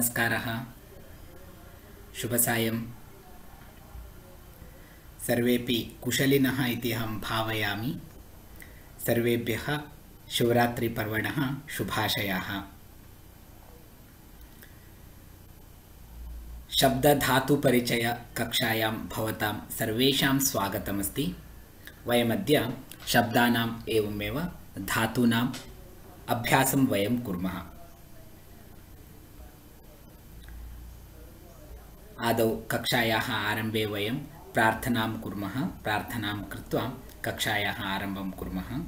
नमस्कारः। शुभसायं। सर्वेपि कुशलिनः इति अहं भावयामि। सर्वेभ्यः शिवरात्रिपर्वणः शुभाशयाः। शब्दधातुपरिचयकक्षायां भवतां सर्वेषां स्वागतमस्ति। वयमद्य शब्दानाम् एवमेव धातूनाम् अभ्यासं वयं कुर्मः। आदौ कक्षायाः आरम्भे वयं प्रार्थनां कुर्मः। प्रार्थनां कृत्वा कक्षायाः आरम्भं कुर्मः।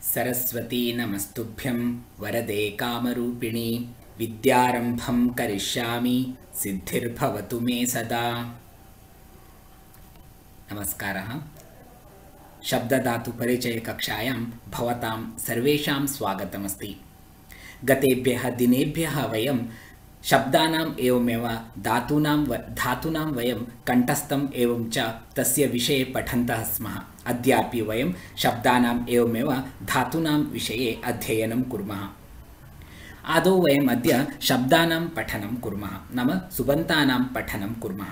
सरस्वती नमस्तुभ्यं वरदे कामरूपिणी, विद्यारम्भं करिष्यामि सिद्धिर्भवतु मे सदा। नमस्कारः। शब्दधातुपरिचयकक्षायां भवतां सर्वेषां स्वागतमस्ति। गतेभ्यः दिनेभ्यः वयं शब्दानाम् एवमेव धातूनां वयं कण्ठस्थम् एवं च तस्य विषये पठन्तः स्मः। अद्यापि वयं शब्दानाम् एवमेव धातूनां विषये अध्ययनं कुर्मः। आदौ वयम् अद्य शब्दानां पठनं कुर्मः, नाम सुबन्तानां पठनं कुर्मः।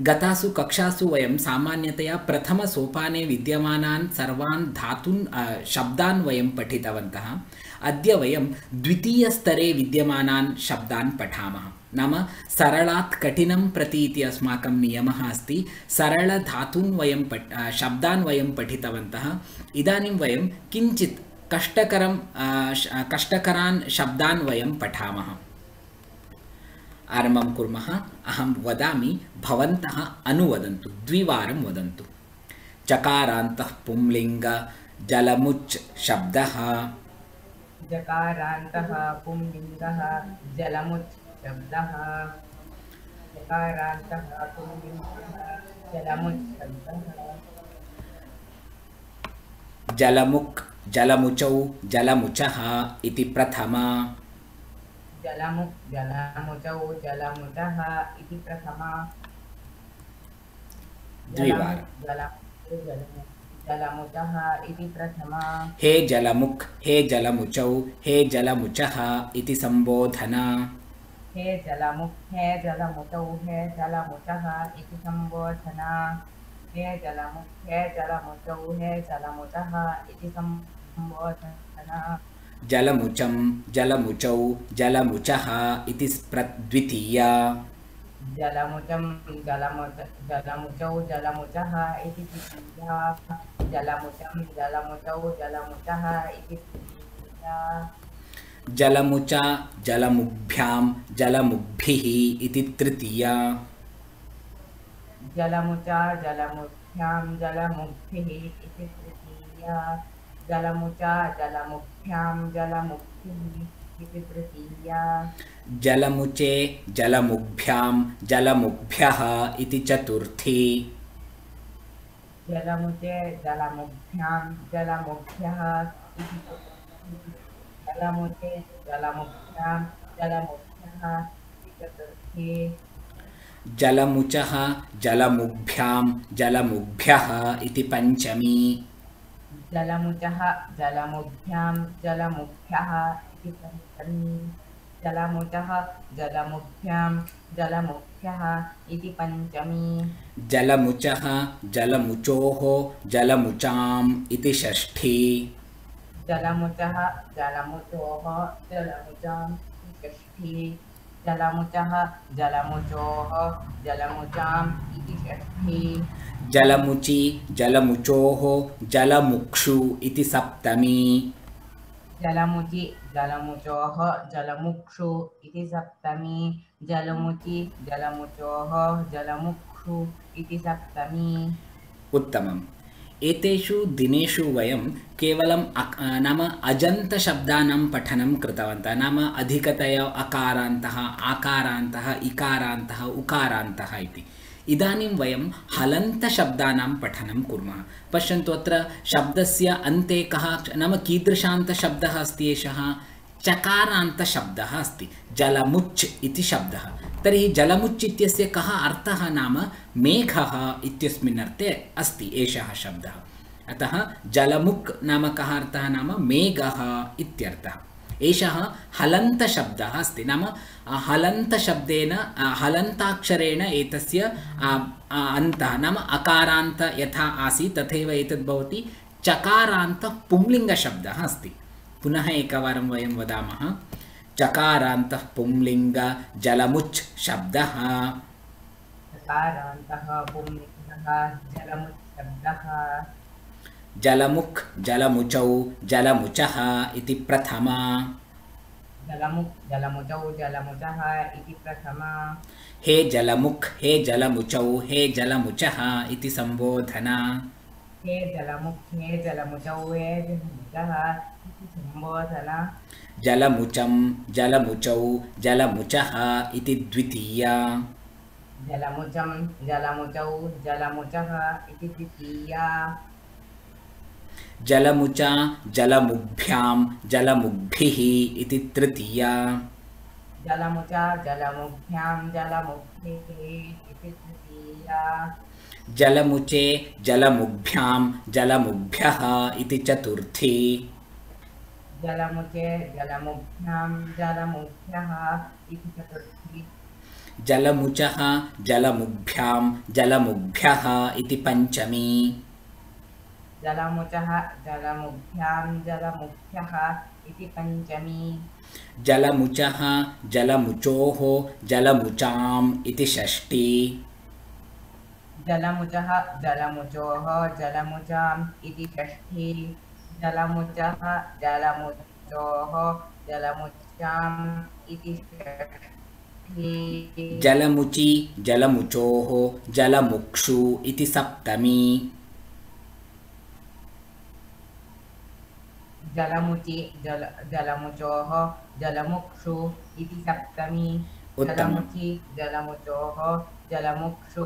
गतासु कक्षासु वयं सामान्यतया प्रथमसोपाने विद्यमानान् सर्वान् शब्दान् वयं पठितवन्तः। अद्य वयं द्वितीयस्तरे विद्यमानान् शब्दान् पठामः। नाम सरलात् कठिनं प्रति इति अस्माकं नियमः अस्ति। सरलधातून् वयं शब्दान् वयं पठितवन्तः। इदानीं वयं किञ्चित् कष्टकरान् शब्दान् वयं पठामः। आरम्भं कुर्मः। अहं वदामि, भवन्तः अनुवदन्तु, द्विवारं वदन्तु। चकारान्तः पुंलिङ्ग जलमुच् शब्दः। जकारान्तः पुंलिङ्गः जलमुच् शब्दः। जकारान्तः पुंलिङ्गः जलमुच् शब्दः। जलमुक् जलमुचौ जलमुचः इति प्रथमा। जलमुक् जलमुचौ जलमुचः इति प्रथमा। द्विवारं। जलमुचः इति प्रथमा। हे जलमुक् हे जलमुचौ हे जलमुचः इति संबोधना। हे जलमुक् हे जलमुचौ हे जलमुचः इति संबोधना। हे जलमुक् हे जलमुचौ हे जलमुचः इति संबोधना। जलमुचं जलमुचौ जलमुचः इति द्वितीया। जलमुचं जलमुचौ जलमुचः इति द्वितीया। जलमुचं जलमुचौ जलमुचः इति तृतीया। जलमुचा जलमुभ्यां जलमुग्भिः इति तृतीया। जलमुचा जलमुभ्यां जलमुग्भिः इति तृतीया। जलमुचा जलमुभ्यां जलमुग्भिः इति तृतीया। जलमुचे जलमुग्भ्यां जलमुग्भ्यः इति चतुर्थी। जलमुचे जलमुभ्यां जलमुभ्यः इति चतुर्थी। जलमुचे जलमुभ्यां जलमुभ्यः इति चतुर्थी। जलमुचः जलमुभ्यां जलमुभ्यः इति पञ्चमी। जलमुचः जलमुभ्यां जलमुभ्यः इति पञ्चमी। जलमुचः जलमुभ्यां जलमुभ्यः इति पञ्चमी। जलमुचः जलमुचोः जलमुचाम् इति षष्ठी। जलमुचः जलमुचोः जलमुचाम् इति षष्ठी। जलमुचः जलमुचोः जलमुचाम् इति षष्ठी। जलमुचि जलमुचोः जलमुक्षु इति सप्तमी। जलमुचि जलमुचोः जलमुक्षु इति सप्तमी। जलमुचि जलमुचोः जलमुक्षु इति सप्तमी। उत्तमम्। एतेषु दिनेषु वयं केवलं नाम अजन्तशब्दानां पठनं कृतवन्तः। नाम अधिकतया अकारान्तः आकारान्तः इकारान्तः उकारान्तः इति। इदानीं वयं हलन्तशब्दानां पठनं कुर्मः। पश्यन्तु अत्र शब्दस्य अन्ते कः नाम कीदृशान्तशब्दः अस्ति एषः चकारान्तशब्दः अस्ति जलमुच् इति शब्दः। तर्हि जलमुच् इत्यस्य कः अर्थः नाम मेघः इत्यस्मिन् अर्थे अस्ति एषः शब्दः। अतः जलमुक् नाम कः अर्थः नाम मेघः इत्यर्थः। एषः हलन्तशब्दः अस्ति नाम हलन्तशब्देन हलन्ताक्षरेण एतस्य अन्तः नाम अकारान्त यथा आसीत् तथैव एतद् भवति चकारान्त पुंलिङ्गशब्दः अस्ति। पुनः एकवारं वयं वदामः चकारान्तः पुंलिङ्ग जलमुच् शब्दः। चकारान्तः पुंलिङ्गः जलमुच् शब्दः। जलमुक् जलमुचौ जलमुचः इति प्रथमा। जलमुक् जलमुचौ जलमुचः इति प्रथमा। हे जलमुक् हे जलमुचौ हे जलमुचः इति संबोधना। हे जलमुक् हे जलमुचौ हे जलमुचः इति संबोधना। जलमुचं जलमुचौ जलमुचः इति द्वितीया। जलमुचं जलमुचौ जलमुचः इति द्वितीया। जलमुचा जलमुभ्यां जलमुग्भिः इति तृतीया। जलमुचा जलमुभ्यां जलमुग्भिः इति तृतीया। जलमुचे जलमुभ्यां जलमुभ्यः इति चतुर्थी। जलमुचे जलमुभ्यां जलमुभ्यः इति चतुर्थी। जलमुचः जलमुभ्यां जलमुभ्यः इति पञ्चमी। जलमुचः जलमुभ्यां जलमुभ्यः इति पञ्चमी। जलमुचः जलमुचोः जलमुचाम् इति षष्ठी। जलमुचः जलमुचोः जलमुचाम् इति षष्ठी। जलमुचः जलमुचोः जलमुचाम् इति षष्ठी। जलमुची जलमुचोः जलमुक्षु इति सप्तमी। जलमुचि जलमुचोः जलमुक्षु इति सप्तमी। उत्तमम्। जलमुचि जलमुचोः जलमुक्षु।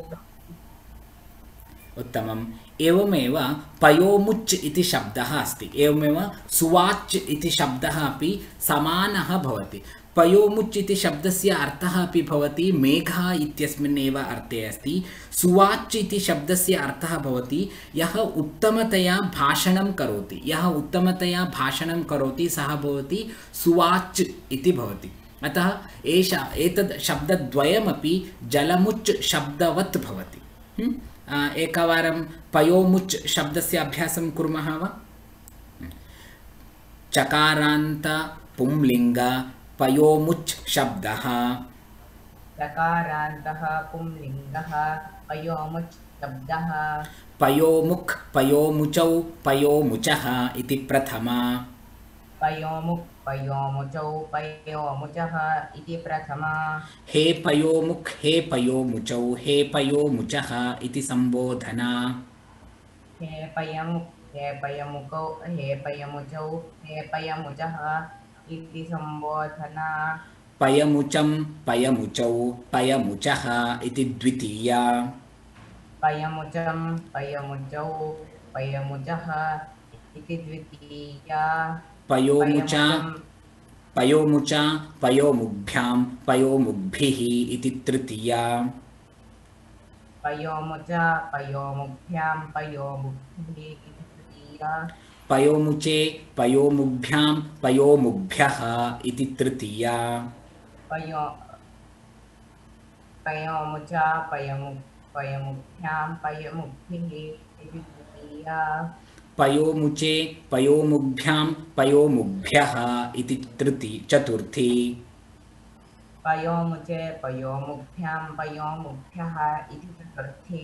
उत्तमम्। एवमेव पयोमुच् इति शब्दः अस्ति। एवमेव सुवाच् इति शब्दः अपि समानः भवति। पयोमुच् इति शब्दस्य अर्थः अपि भवति मेघः इत्यस्मिन् एव अर्थे अस्ति। सुवाच् इति शब्दस्य अर्थः भवति यः उत्तमतया भाषणं करोति। यः उत्तमतया भाषणं करोति सः भवति सुवाच् इति भवति। अतः एतद् शब्दद्वयमपि जलमुच् शब्दवत् भवति। एकवारं पयोमुच् शब्दस्य अभ्यासं कुर्मः वा? चकारान्त पुंलिङ्ग पयोमुच् शब्दः। चकारान्तः पुंलिङ्गः पयोमुच् शब्दः। पयोमुक् पयोमुचौ पयोमुचः इति प्रथमा। पयोमुक् पयोमुचौ पयोमुचः इति प्रथमा। हे पयोमुक् हे पयोमुचौ हे पयोमुचः इति संबोधना। हे पयमुक् हे पयमुकौ हे पयमुचौ हे पयमुचः इति संबोधना। पयमुचं पयमुचौ पयमुचः इति द्वितीया। पयमुचं पयमुचौ पयमुचः इति द्वितीया। पयोमुचा पयोमुचा पयोमुभ्यां पयोमुग्भिः इति तृतीया। पयोमुचा पयोमुभ्यां पयोमुग्भिः इति तृतीया। पयोमुचे पयोमुभ्यां पयोमुभ्यः इति तृतीया। पयोमुचा पयमुभ्यां पयमुग्भिः इति तृतीया। पयोमुचे पयोमुभ्यां पयोमुभ्यः इति चतुर्थी। पयोमुचे पयोमुभ्यां पयोमुभ्यः इति चतुर्थी।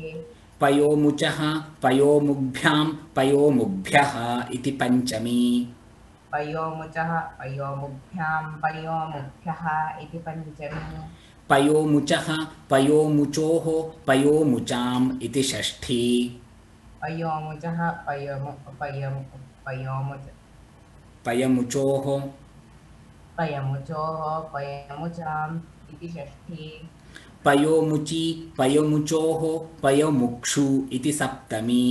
पयोमुचः पयोमुभ्यां पयोमुभ्यः इति पञ्चमी। पयोमुचः पयोमुभ्यां पयोमुभ्यः इति पञ्चमी। पयोमुचः पयोमुचोः पयोमुचाम् इति षष्ठी। पयोमुचः पयमुचोः पयमुचोः पयमुचाम् इति षष्ठी। पयोमुचि पयोमुचोः पयोमुक्षु इति सप्तमी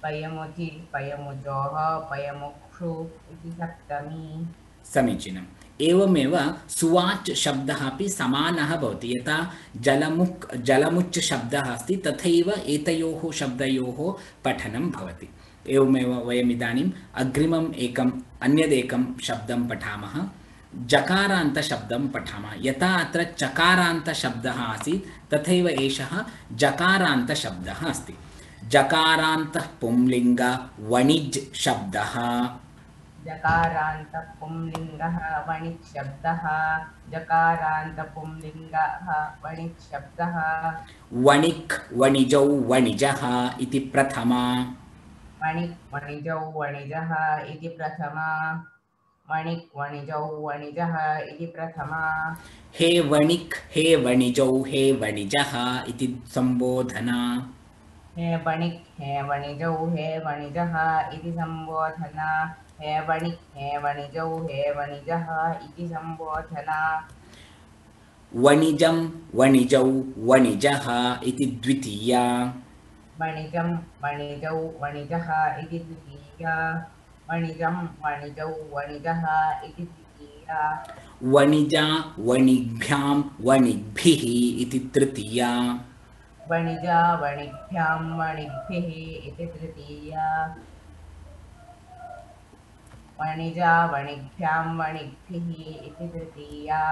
पयमुचि पयमुचोः पयमुक्षु इति सप्तमी समीचीनम् एवमेव सुवाच् शब्दः अपि समानः भवति यथा जलमुच् शब्दः अस्ति तथैव एतयोः शब्दयोः पठनं भवति एवमेव वयम् इदानीम् अग्रिमम् अन्यदेकं शब्दं पठामः जकारान्तशब्दं पठामः यथा अत्र चकारान्तशब्दः आसीत् तथैव एषः जकारान्तशब्दः अस्ति जकारान्तः पुंलिङ्ग वणिज् शब्दः जकारान्त पुंलिङ्गः वणिक् शब्दः जकारान्त पुंलिङ्गः वणिक् शब्दः वणिक् वणिजौ वणिजः इति प्रथमा वणिक् वणिजौ वणिजः इति प्रथमा वणिक् वणिजौ वणिजः इति प्रथमा हे वणिजौ हे वणिजः इति संबोधना हे वणिक् हे वणिजौ हे वणिजः इति संबोधना हे वणिक् हे वणिजौ हे वणिजः इति संबोधना वणिजं वणिजौ वणिजः इति द्वितीया वणिजं वणिजौ वणिजः इति द्वितीया वणिजं वणिजौ वणिजः इति तृतीया वणिजा वणिभ्यां वणिग्भिः इति तृतीया वणिजा वणिभ्यां वणिग्भिः इति तृतीया वणिजा वणिभ्यां वणिग्भिः इति तृतीया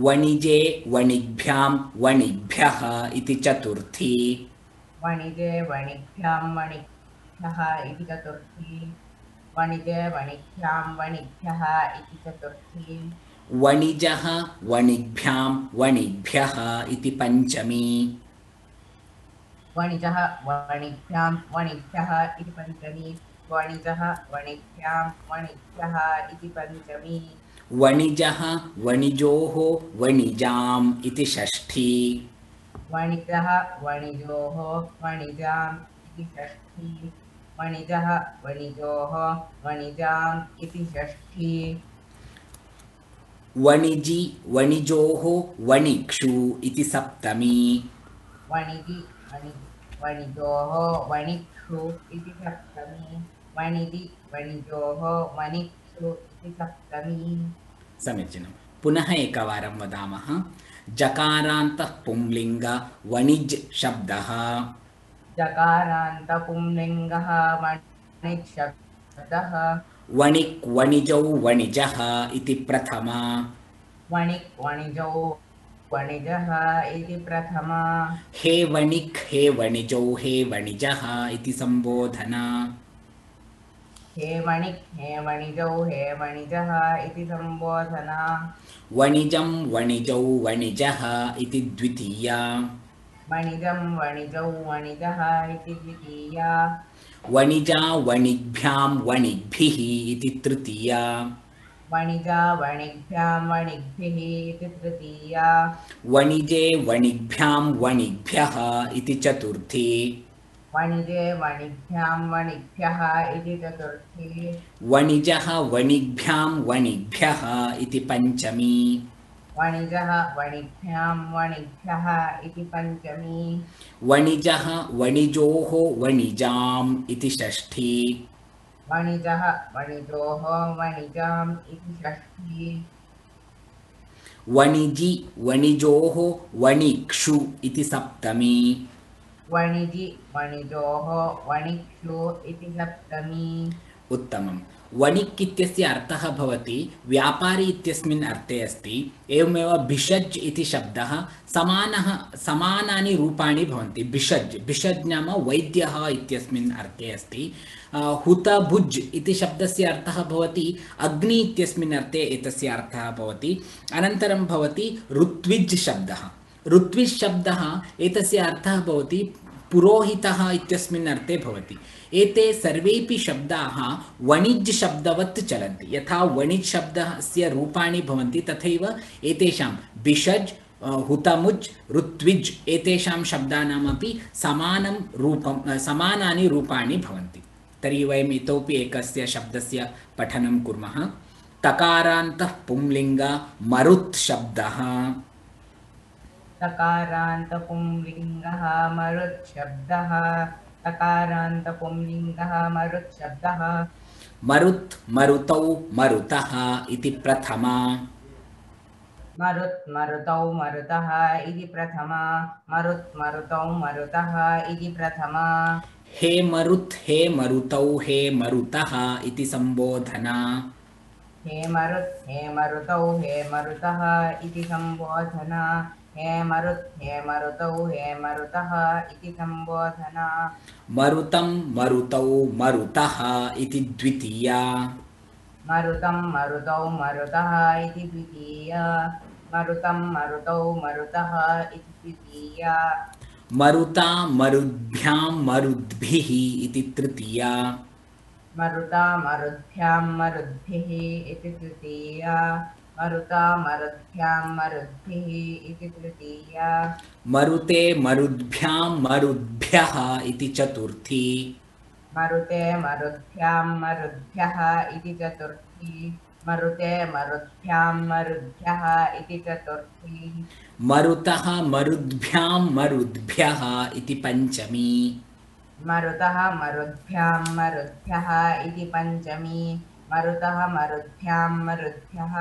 वणिजे वणिग्भ्यां वणिभ्यः इति चतुर्थी वणिजे वणिभ्यां वणिभ्यः इति चतुर्थी वणिजे वणिभ्यां वणिभ्यः इति चतुर्थी वणिजः वणिग्भ्यां वणिभ्यः इति पञ्चमी वणिजः वणिभ्यां वणिभ्यः इति पञ्चमी वणिजः वणिभ्यां वणिभ्यः इति पञ्चमी वणिजः वणिजोः वणिजाम् इति षष्ठी वणिजः वणिजोः वणिजाम् इति षष्ठी वणिजः वणिजोः वणिजाम् इति षष्ठी वणिजि वणिजोः वणिक्षु इति सप्तमी वणिजि वणिजोः वणिक्षु इति सप्तमी वणिजि वणिजोः वणिक्षु इति सप्तमी समीचीनं पुनः एकवारं वदामः जकारान्तः पुंलिङ्ग वणिज् शब्दः जकारान्त पुंलिङ्गः वणिक् शब्दः वणिक् वणिजौ वणिजः इति प्रथमा वणिक् वणिजौ वणिजः इति प्रथमा हे वणिजौ हे वणिजः इति संबोधना हे वणिक् हे वणिजौ हे वणिजः इति संबोधना वणिजं वणिजौ वणिजः इति द्वितीया वणिजं वणिजौ वणिजः इति द्वितीया वणिजा वणिग्भ्यां वणिग्भिः इति तृतीया वणिजा वणिग्भ्यां वणिग्भिः इति तृतीया वणिजे वणिग्भ्यां वणिग्भ्यः इति चतुर्थी वणिजे वणिभ्यां वणिभ्यः इति चतुर्थी वणिजः वणिग्भ्यां वणिभ्यः इति पञ्चमी वणिजः वणिभ्यां वणिभ्यः इति पञ्चमी वणिजः वणिजोः वणिजाम् इति षष्ठी वणिजः वणिजोः वणिजाम् इति षष्ठी वणिजि वणिजोः वणिक्षु इति सप्तमी वणिजि वणिजोः वणिक्षु इति सप्तमी उत्तमं वणिक् इत्यस्य अर्थः भवति व्यापारी इत्यस्मिन् अर्थे अस्ति एवमेव भिषज् इति शब्दः समानानि रूपाणि भवन्ति भिषज् नाम वैद्यः इत्यस्मिन् अर्थे अस्ति हुतभुज् इति शब्दस्य अर्थः भवति अग्नि इत्यस्मिन् अर्थे एतस्य अर्थः भवति अनन्तरं भवति ऋत्विज् शब्दः ऋत्विज् शब्दः एतस्य अर्थः भवति पुरोहितः इत्यस्मिन् अर्थे भवति एते सर्वेपि शब्दाः वणिज् शब्दवत् चलन्ति यथा वणिज् शब्दस्य रूपाणि भवन्ति तथैव एतेषां भिषज् हुतमुज् ऋत्विज् एतेषां शब्दानामपि समानानि रूपाणि भवन्ति तर्हि वयम् इतोपि एकस्य शब्दस्य पठनं कुर्मः तकारान्तः पुंलिङ्ग मरुत् शब्दः तकारान्तपुंलिङ्गः मरुच्छब्दः तकारान्तपुंलिङ्गः मरुच्छब्दः मरुत् मरुतौ मरुतः इति प्रथमा मरुत् मरुतौ मरुतः इति प्रथमा मरुत् मरुतौ मरुतः इति प्रथमा हे मरुतौ हे मरुतः इति संबोधना हे मरुतौ हे मरुतः इति संबोधना हे मरुतौ हे मरुतः इति संबोधना मरुतं मरुतौ मरुतः इति द्वितीया मरुतं मरुतौ मरुतः इति द्वितीया मरुतं मरुतौ मरुतः इति द्वितीया मरुता मरुद्भ्यां मरुद्भिः इति तृतीया मरुता मरुद्भ्यां मरुद्भिः इति तृतीया मरुता मरुद्भ्यां मरुद्भिः इति तृतीया मरुते मरुद्भ्यां मरुद्भ्यः इति चतुर्थी मरुते मरुद्भ्यां मरुद्भ्यः इति चतुर्थी मरुते मरुद्भ्यां मरुद्भ्यः इति चतुर्थी मरुतः मरुद्भ्यां मरुद्भ्यः इति पञ्चमी मरुतः मरुद्भ्यां मरुद्भ्यः इति पञ्चमी मरुतः मरुद्भ्यां मरुद्भ्यः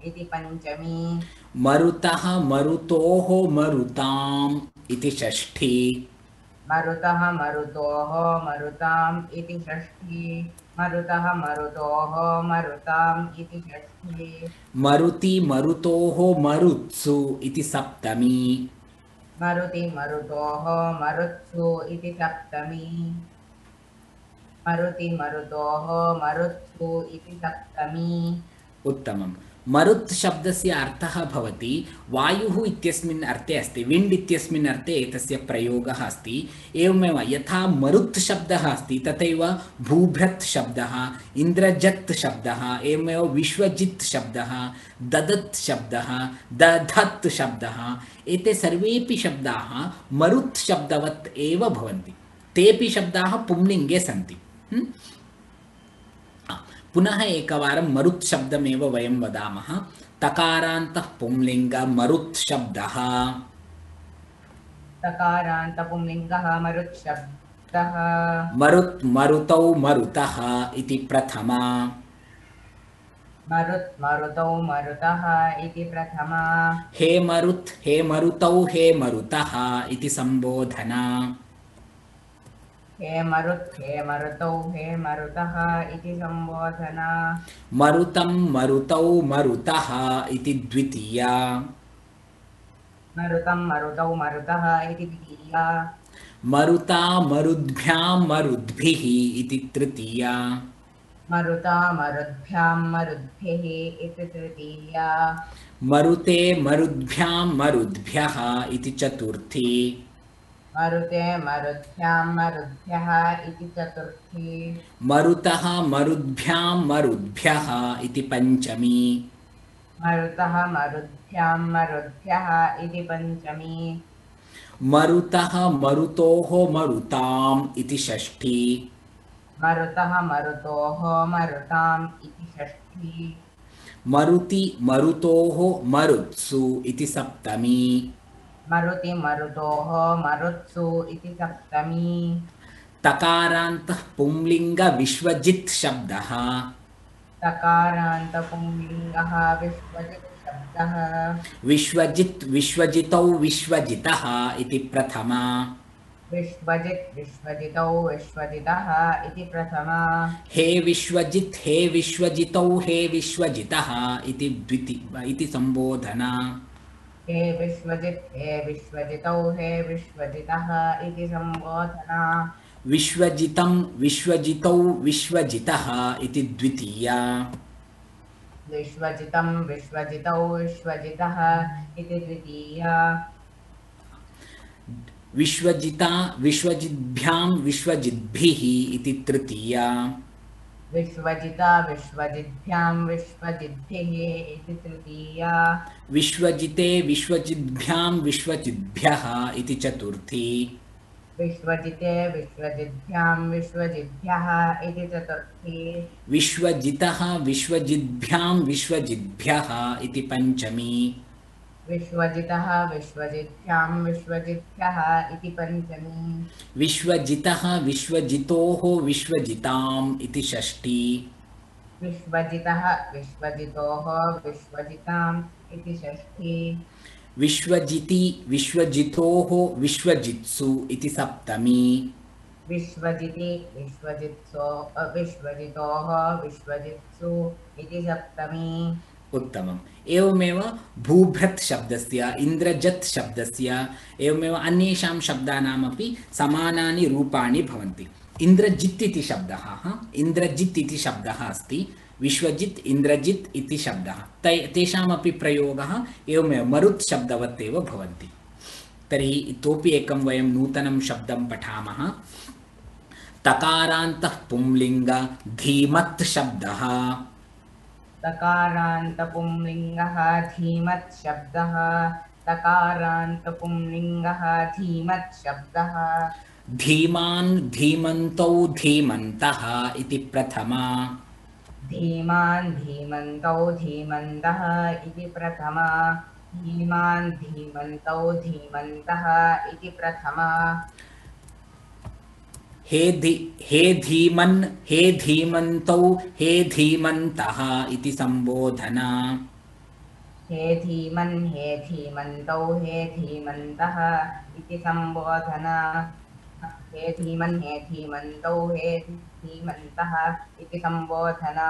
इति पञ्चमी मरुतः मरुतोः मरुताम् इति षष्ठी मरुतः मरुतोः मरुताम् इति षष्ठी मरुतः मरुतोः मरुताम् इति षष्ठी मरुति मरुतोः मरुत्सु इति सप्तमी मरुति मरुतोः मरुत्सु इति सप्तमी मरुति मरुतोः मरुत्सु इति सप्तमी उत्तमम् मरुत् शब्दस्य अर्थः भवति वायुः इत्यस्मिन् अर्थे अस्ति विण्ड् इत्यस्मिन् अर्थे एतस्य प्रयोगः अस्ति एवमेव यथा मरुत् शब्दः अस्ति तथैव भूभृत् शब्दः इन्द्रजत् शब्दः एवमेव विश्वजित् शब्दः ददत् शब्दः दधत् शब्दः एते सर्वेपि शब्दाः मरुत् शब्दवत् एव भवन्ति तेपि शब्दाः पुंलिङ्गे सन्ति पुनः एकवारं मरुत् शब्दमेव वयं वदामः तकारान्तः पुंलिङ्ग मरुत् शब्दः तकारान्तपुंलिङ्गः मरुत् शब्दः मरुत् मरुतौ मरुतः इति प्रथमा मरुत् मरुतौ मरुतः इति प्रथमा हे मरुतौ हे मरुतः इति संबोधना हे मरुतौ हे मरुतः इति संबोधना मरुतं मरुतौ मरुतः इति द्वितीया मरुतं मरुतौ मरुतः इति द्वितीया मरुता मरुद्भ्यां मरुद्भिः इति तृतीया मरुता मरुद्भ्यां मरुद्भिः इति तृतीया मरुते मरुद्भ्यां मरुद्भ्यः इति चतुर्थी मरुते मरुद्भ्यां मरुद्भ्यः इति चतुर्थी मरुतः मरुद्भ्यां मरुद्भ्यः इति पञ्चमी मरुतः मरुद्भ्यां मरुद्भ्यः इति पञ्चमी मरुतः मरुतोः मरुताम् इति षष्ठी मरुतः मरुतोः मरुताम् इति षष्ठी मरुति मरुतोः मरुत्सु इति सप्तमी मरुति मरुतोः मरुत्सु इति सप्तमी तकारान्तः पुंलिङ्ग विश्वजित् शब्दः तकारान्तपुंलिङ्गः विश्वजित् शब्दः विश्वजित् विश्वजितौ विश्वजितः इति प्रथमा विश्वजित् विश्वजितौ विश्वजितः इति प्रथमा हे विश्वजित् हे विश्वजितौ हे विश्वजितः इति संबोधना हे विश्वजित् हे विश्वजितौ हे विश्वजितः इति संबोधना विश्वजितं विश्वजितौ विश्वजितः इति द्वितीया विश्वजितं विश्वजितौ विश्वजितः इति द्वितीया विश्वजिता विश्वजिद्भ्यां विश्वजिद्भिः इति तृतीया विश्वजिता विश्वजिद्भ्यां विश्वजिद्भिः इति तृतीया विश्वजिते विश्वजिद्भ्यां विश्वजिद्भ्यः इति चतुर्थी विश्वजिते विश्वजिद्भ्यां विश्वजिद्भ्यः इति चतुर्थी विश्वजितः विश्वजिद्भ्यां विश्वजिद्भ्यः इति पञ्चमी विश्वजितः विश्वजित्यां विश्वजित्याः इति पञ्चमी विश्वजितः विश्वजितोः विश्वजिताम् इति षष्ठी विश्वजितः विश्वजितोः विश्वजिताम् इति षष्ठी विश्वजिति विश्वजितोः विश्वजित्सु इति सप्तमी विश्वजिति विश्वजितोः विश्वजित्सु इति सप्तमी उत्तमम् एवमेव भूभृत् शब्दस्य इन्द्रजत् शब्दस्य एवमेव अन्येषां शब्दानामपि समानानि रूपाणि भवन्ति इन्द्रजित् इति शब्दः इन्द्रजित् इति शब्दः अस्ति विश्वजित् इन्द्रजित् इति शब्दः तेषामपि प्रयोगः एवमेव मरुत् शब्दवत् एव भवन्ति तर्हि इतोपि एकं वयं नूतनं शब्दं पठामः तकारान्तः पुंलिङ्ग धीमत् शब्दः तकारान्तपुंलिङ्गः धीमत् शब्दः तकारान्तपुंलिङ्गः धीमत् शब्दः धीमान् धीमन्तौ धीमन्तः इति प्रथमा धीमान् धीमन्तौ धीमन्तः इति प्रथमा धीमान् धीमन्तौ धीमन्तः इति प्रथमा हे धीमन् हे धीमन्तौ हे धीमन्तः इति संबोधना हे धीमन् हे धीमन्तौ हे धीमन्तः इति संबोधना हे धीमन् हे धीमन्तौ हे धीमन्तः इति संबोधना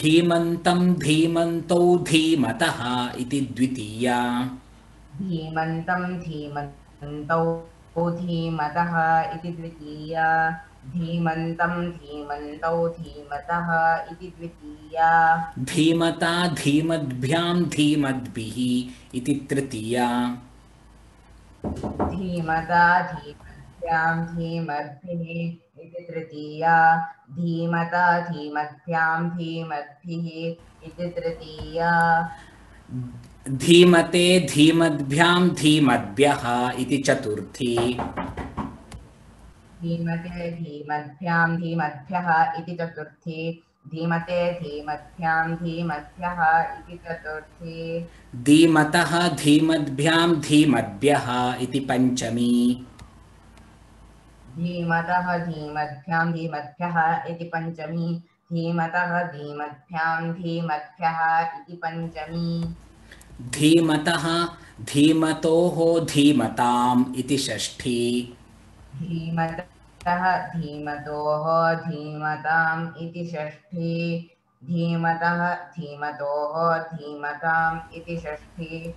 धीमन्तं धीमन्तौ धीमतः इति द्वितीया धीमन्तं धीमन्तौ धीमतः इति द्वितीया धीमन्तं धीमन्तौ धीमतः इति द्वितीया धीमता धीमद्भ्यां धीमद्भिः इति तृतीया धीमता धीमद्भ्यां धीमद्भिः इति तृतीया धीमता धीमद्भ्यां धीमद्भिः इति तृतीया धीमते धीमद्भ्यां धीमद्भ्यः इति चतुर्थी धीमते धीमद्भ्यां धीमद्भ्यः इति चतुर्थी धीमते धीमद्भ्यां धीमद्भ्यः इति चतुर्थी धीमतः धीमद्भ्यां धीमद्भ्यः इति पञ्चमी धीमतः धीमद्भ्यां धीमद्भ्यः इति पञ्चमी धीमतः धीमद्भ्यां धीमद्भ्यः इति पञ्चमी धीमतः धीमतोः धीमताम् इति षष्ठी धीमतः धीमतोः धीमताम् इति षष्ठी धीमतः धीमतोः धीमताम् इति षष्ठी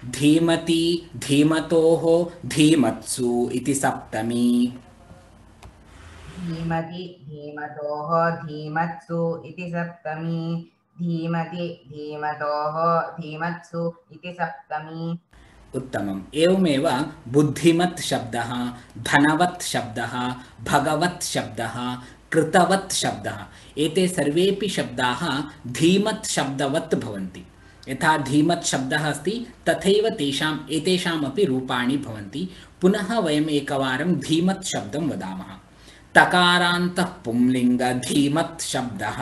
धीमति धीमतोः धीमत्सु इति सप्तमी धीमति धीमतोः धीमत्सु इति सप्तमी धीमति धीमतोः धीमत्सु इति सप्तमी उत्तमम् एवमेव बुद्धिमत् शब्दः धनवत् शब्दः भगवत् शब्दः कृतवत् शब्दः एते सर्वेपि शब्दाः धीमत् शब्दवत् भवन्ति यथा धीमत् शब्दः अस्ति तथैव एतेषामपि रूपाणि भवन्ति पुनः वयम् एकवारं धीमत् शब्दं वदामः तकारान्तः पुंलिङ्ग धीमत् शब्दः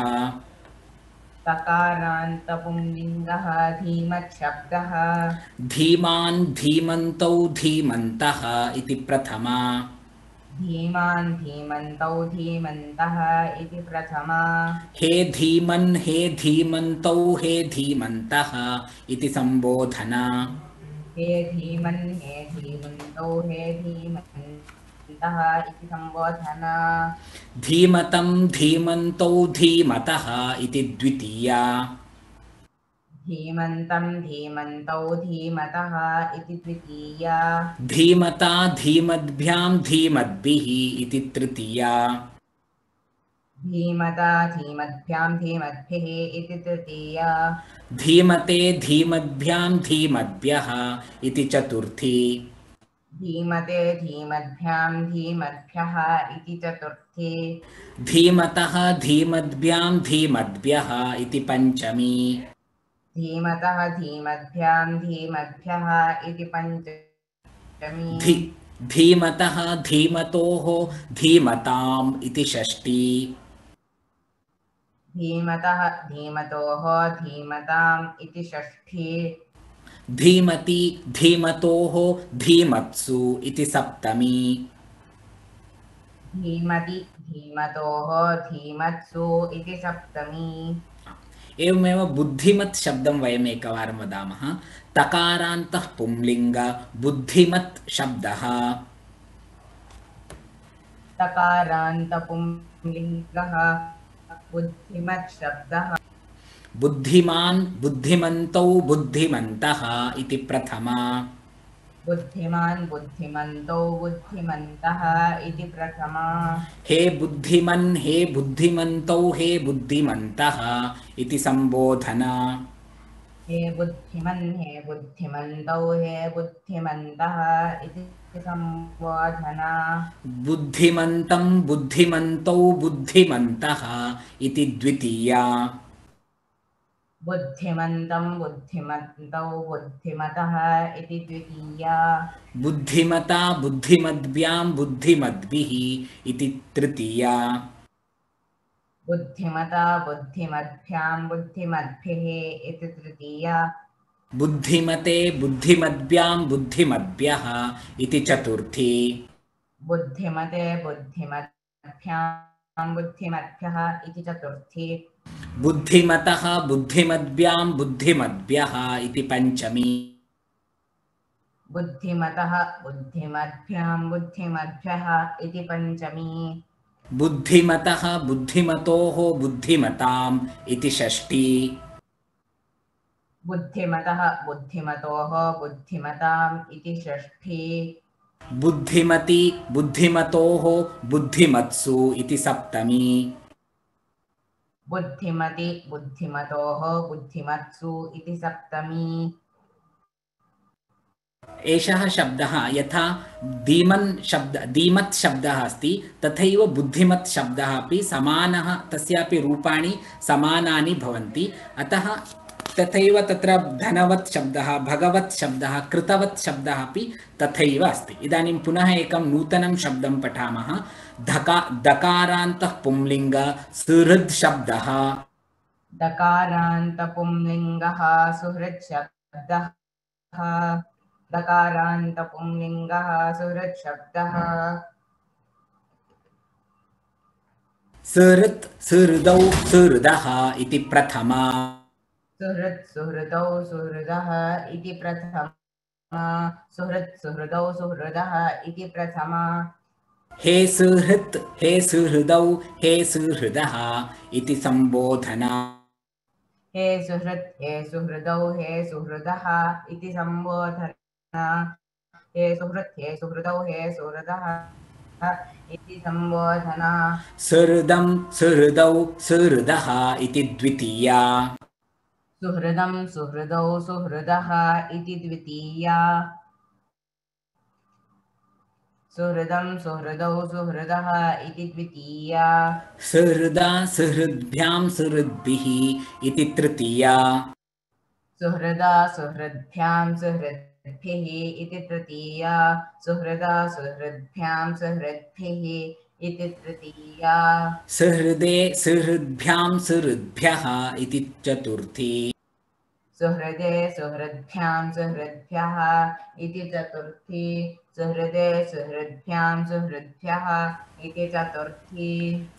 तकारान्तपुंलिङ्गः धीमत् शब्दः धीमान् धीमन्तौ धीमन्तः इति प्रथमा धीमान् धीमन्तौ धीमन्तः इति प्रथमा हे धीमन् हे धीमन्तौ हे धीमन्तः इति संबोधना हे धीमन् हे धीमन्तौ हे धीमन्तः इति संबोधना धीमतं धीमन्तौ धीमतः इति द्वितीया धीमन्तं धीमन्तौ धीमतः इति द्वितीया धीमता धीमद्भ्यां धीमद्भिः इति तृतीया धीमता धीमद्भ्यां धीमद्भिः इति तृतीया धीमते धीमद्भ्यां धीमद्भ्यः इति चतुर्थी धीमते धीमद्भ्यां धीमद्भ्यः इति चतुर्थी धीमतः धीमद्भ्यां धीमद्भ्यः इति पञ्चमी धीमतः धीमद्भ्यां धीमद्भ्यः इति पञ्चमी धीमतः धीमतोः धीमताम् इति षष्ठी धीमतः धीमतोः धीमताम् इति षष्ठी धीमति धीमतोः धीमत्सु इति सप्तमी। धीमति धीमतोः धीमत्सु इति सप्तमी। एवमेव बुद्धिमत् शब्दं वयम् एकवारं वदामः। तकारान्तः पुंलिङ्ग बुद्धिमत् शब्दः। तकारान्तपुंलिङ्गः बुद्धिमत् शब्दः। बुद्धिमान् बुद्धिमन्तौ बुद्धिमन्तः इति प्रथमा। बुद्धिमान् बुद्धिमन्तौ बुद्धिमन्तः इति प्रथमा। हे बुद्धिमन् हे बुद्धिमन्तौ हे बुद्धिमन्तः इति संबोधना। हे बुद्धिमन् हे बुद्धिमन्तौ हे बुद्धिमन्तः इति संबोधना। बुद्धिमन्तं बुद्धिमन्तौ बुद्धिमन्तः इति द्वितीया। बुद्धिमन्तं बुद्धिमन्तौ बुद्धिमतः इति द्वितीया। बुद्धिमता बुद्धिमद्भ्यां बुद्धिमद्भिः इति तृतीया। बुद्धिमता बुद्धिमद्भ्यां बुद्धिमद्भिः इति तृतीया। बुद्धिमते बुद्धिमद्भ्यां बुद्धिमद्भ्यः इति चतुर्थी। बुद्धिमते बुद्धिमद्भ्यां बुद्धिमद्भ्यः इति चतुर्थी। बुद्धिमतः बुद्धिमद्भ्यां बुद्धिमद्भ्यः इति पंचमी। बुद्धिमतः बुद्धिमद्भ्यां बुद्धिमद्भ्यः इति पंचमी। बुद्धिमतः बुद्धिमतोः बुद्धिमताम् इति षष्ठी। बुद्धिमतः बुद्धिमतोः बुद्धिमताम् इति षष्ठी। बुद्धिमति बुद्धिमतोः बुद्धिमत्सु इति सप्तमी। बुद्धिमति बुद्धिमतोः बुद्धिमत्सु इति सप्तमी। एषः शब्दः यथा धीमत् शब्दः अस्ति तथैव बुद्धिमत् शब्दः अपि समानः, तस्यापि रूपाणि समानानि भवन्ति। अतः तथैव तत्र धनवत् शब्दः, भगवत् शब्दः, कृतवत् शब्दः अपि तथैव अस्ति। इदानीं पुनः एकं नूतनं शब्दं पठामः। दकारान्तः पुंलिङ्ग सुहृद् शब्दः। दकारान्तपुंलिङ्गः सुहृत् शब्दः। दकारान्तपुंलिङ्गः सुहृत् शब्दः। सुहृत् सुहृदौ सुहृदः इति प्रथमा। सुहृत् सुहृदौ सुहृदः इति प्रथमा। सुहृत् सुहृदौ सुहृदः इति प्रथमा। हे सुहृत् हे सुहृदौ हे सुहृदः इति संबोधना। हे सुहृत् हे सुहृदौ हे सुहृदः इति संबोधना। हे सुहृत् हे सुहृदौ हे सुहृदः इति संबोधना। सुहृदं सुहृदौ सुहृदः इति द्वितीया। सुहृदं सुहृदौ सुहृदः इति द्वितीया। सुहृदं सुहृदौ सुहृदः इति द्वितीया। सुहृदा सुहृद्भ्यां सुहृद्भिः इति तृतीया। सुहृदा सुहृद्भ्यां सुहृद्भिः इति तृतीया। सुहृदा सुहृद्भ्यां सुहृद्भिः इति तृतीया। सुहृदे सुहृद्भ्यां सुहृद्भ्यः इति चतुर्थी। सुहृदे सुहृद्भ्यां सुहृद्भ्यः इति चतुर्थी। सुहृदे सुहृद्भ्यां सुहृद्भ्यः इति चतुर्थी।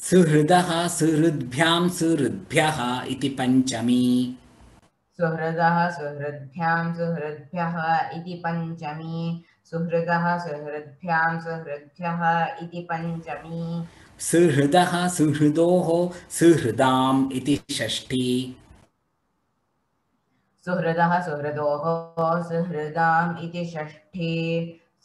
सुहृदः सुहृद्भ्यां सुहृद्भ्यः इति पंचमी। सुहृदः सुहृद्भ्यां सुहृद्भ्यः इति पंचमी। सुहृदः सुहृद्भ्यां सुहृद्भ्यः इति पंचमी। सुहृदः सुहृदोः सुहृदाम् इति षष्ठी। सुहृदः सुहृदोः सुहृदाम् इति षष्ठी।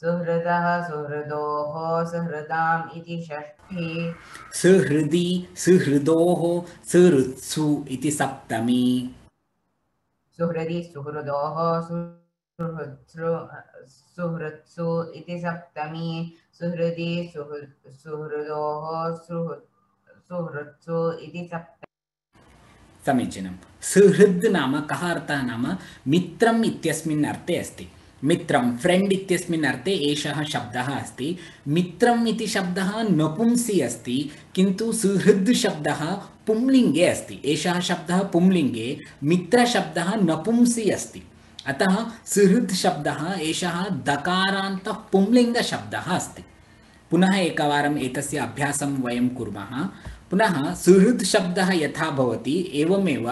सुहृदः सुहृदोः सुहृदाम् इति षष्ठी। सुहृदी सुहृदोः सुहृत्सु इति सप्तमी। सुहृदि सुहृदोः सुहृत्सु इति सप्तमी। सुहृदि सुहृदोः सुहृत्सु इति सप्तमी। समीचीनं। सुहृद् नाम कः अर्थः नाम मित्रम् इत्यस्मिन् अर्थे अस्ति। मित्रं फ्रेंड इत्यस्मिन् अर्थे एषः शब्दः अस्ति। मित्रम् इति शब्दः नपुंसी अस्ति, किन्तु सुहृद् शब्दः पुंलिङ्गे अस्ति। एषः शब्दः पुंलिङ्गे, मित्रशब्दः नपुंसी अस्ति। अतः सुहृद् शब्दः एषः दकारान्तः पुंलिङ्गशब्दः अस्ति। पुनः एकवारम् एतस्य अभ्यासं वयं कुर्मः। पुनः सुहृद् शब्दः यथा भवति एवमेव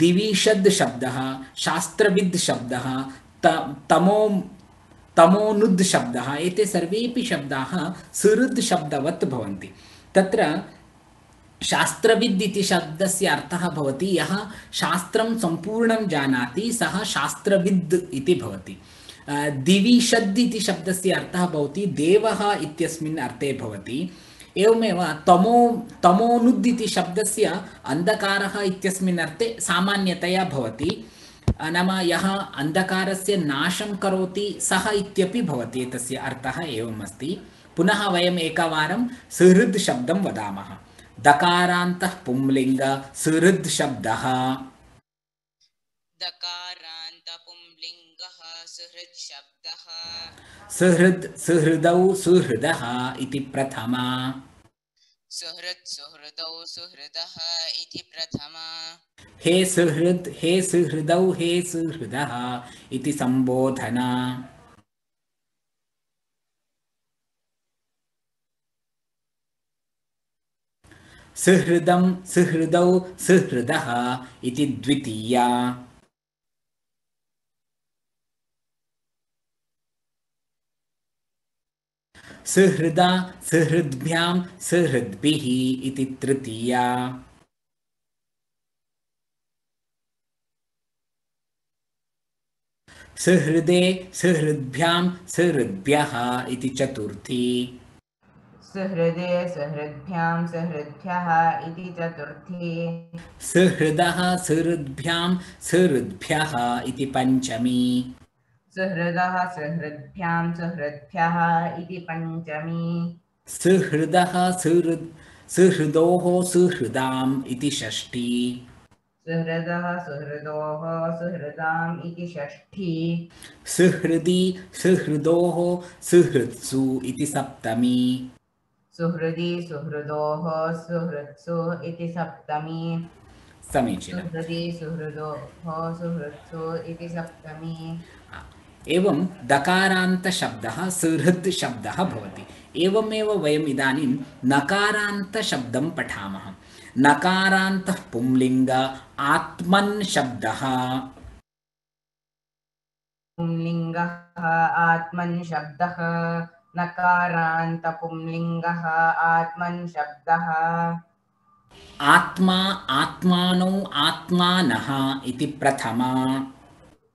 दिविषद् शब्दः, शास्त्रविद् शब्दः, तमोनुद् शब्दः, एते सर्वेपि शब्दाः सुहृद् शब्दवत् भवन्ति। तत्र शास्त्रविद् इति शब्दस्य अर्थः भवति यः शास्त्रं सम्पूर्णं जानाति सः शास्त्रविद् इति भवति। दिविषद् इति शब्दस्य अर्थः भवति देवः इत्यस्मिन् अर्थे भवति। एवमेव तमोनुद् इति शब्दस्य अन्धकारः इत्यस्मिन् अर्थे सामान्यतया भवति। नाम यः अन्धकारस्य नाशं करोति सः इत्यपि भवति। एतस्य अर्थः एवम् अस्ति। पुनः वयम् एकवारं सुहृद् शब्दं वदामः। दकारान्तः पुंलिङ्ग सुहृद् शब्दः। दकारान्त पुंलिङ्गः सुहृद् शब्दः। सुहृदौ सुहृदः इति प्रथमा। सुहृदौ सुहृदः इति प्रथमा। हे सुहृद् हे सुहृदौ हे सुहृदः इति संबोधना। सुहृदं सुहृदौ सुहृदः इति द्वितीया। सुहृदा सुहृद्भ्यां सुहृद्भिः इति तृतीया। सुहृदे सुहृद्भ्यां सुहृद्भ्यः इति चतुर्थी। सुहृदे सुहृद्भ्यां सुहृद्भ्यः इति चतुर्थी। सुहृदः सुहृद्भ्यां सुहृद्भ्यः इति पञ्चमी। सुहृदः सुहृद्भ्यां सुहृद्भ्यः इति पञ्चमी। सुहृदः सुहृदोः सुहृदाम् इति षष्ठी। सुहृदः सुहृदोः सुहृदाम् इति षष्ठी। सुहृदी सुहृदोः सुहृत्सु इति सप्तमी। सुहृदी सुहृदोः सुहृत्सु इति सप्तमी। समीचीनम्। सुहृदी सुहृदोः सुहृत्सु इति सप्तमी। एवं दकारान्तशब्दः सुहृद् शब्दः भवति। एवमेव वयम् इदानीं नकारान्तशब्दं पठामः। नकारान्तः पुंलिङ्ग आत्मन् शब्दः। पुंलिङ्गः आत्मन् शब्दः। नकारान्त पुंलिङ्गः आत्मन् शब्दः। आत्मा आत्मानौ आत्मानः इति प्रथमा।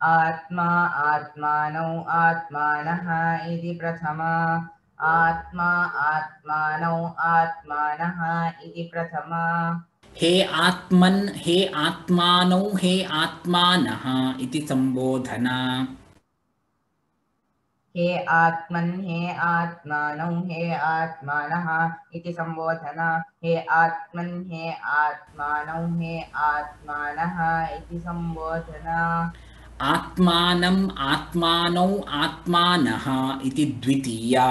आत्मा आत्मानौ आत्मानः इति प्रथमा। आत्मा आत्मानौ आत्मानः इति प्रथमा। हे आत्मन् हे आत्मानौ हे आत्मानः इति संबोधना। हे आत्मन् हे आत्मानौ हे आत्मानः इति संबोधना। हे आत्मन् हे आत्मानौ हे आत्मानः इति संबोधना। आत्मानम् आत्मानौ आत्मानः इति द्वितीया।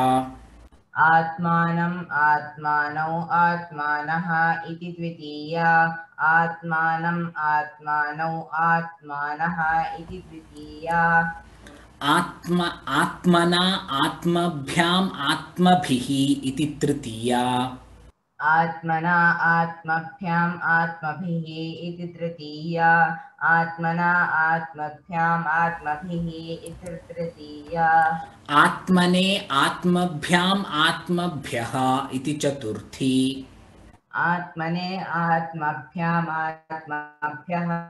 आत्मानम् आत्मानौ आत्मानः इति द्वितीया। आत्मानम् आत्मानौ आत्मानः इति द्वितीया। आत्मना आत्मभ्याम् आत्मभिः इति तृतीया। आत्मना आत्मभ्याम् आत्मभिः इति तृतीया। आत्मना आत्मभ्याम् आत्मभिः इति तृतीया। आत्मने आत्मभ्याम् आत्मभ्यः इति चतुर्थी। आत्मने आत्मभ्याम् आत्मभ्यः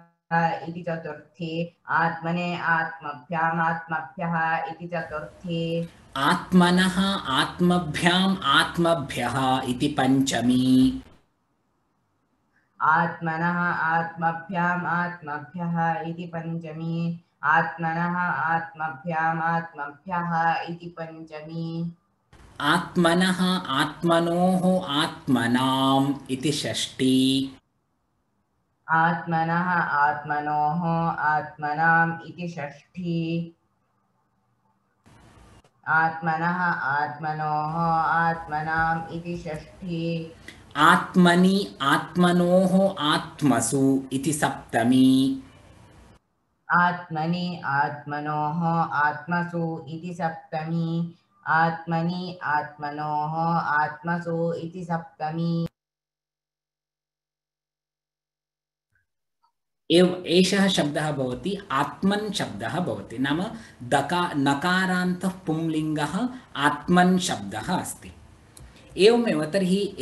इति चतुर्थी। आत्मने आत्मभ्याम् आत्मभ्यः इति चतुर्थी। आत्मनः आत्मभ्याम् आत्मभ्यः इति पञ्चमी। आत्मनः आत्मभ्याम् आत्मभ्यः इति पञ्चमी। आत्मनः आत्मभ्याम् आत्मभ्यः इति पञ्चमी। आत्मनः आत्मनोः आत्मनाम् इति षष्ठी। आत्मनः आत्मनोः आत्मनाम् इति षष्ठी। आत्मनः आत्मनोः आत्मनाम् इति षष्ठी। आत्मनि आत्मनोः आत्मसु इति सप्तमी। आत्मनि आत्मनोः आत्मसु इति सप्तमी आत्मनि आत्मनोः आत्मसु इति सप्तमी एषः शब्दः भवति आत्मन् शब्दः भवति नाम नकारान्तः पुंलिङ्गः आत्मन् शब्दः अस्ति एवमेव तर्हि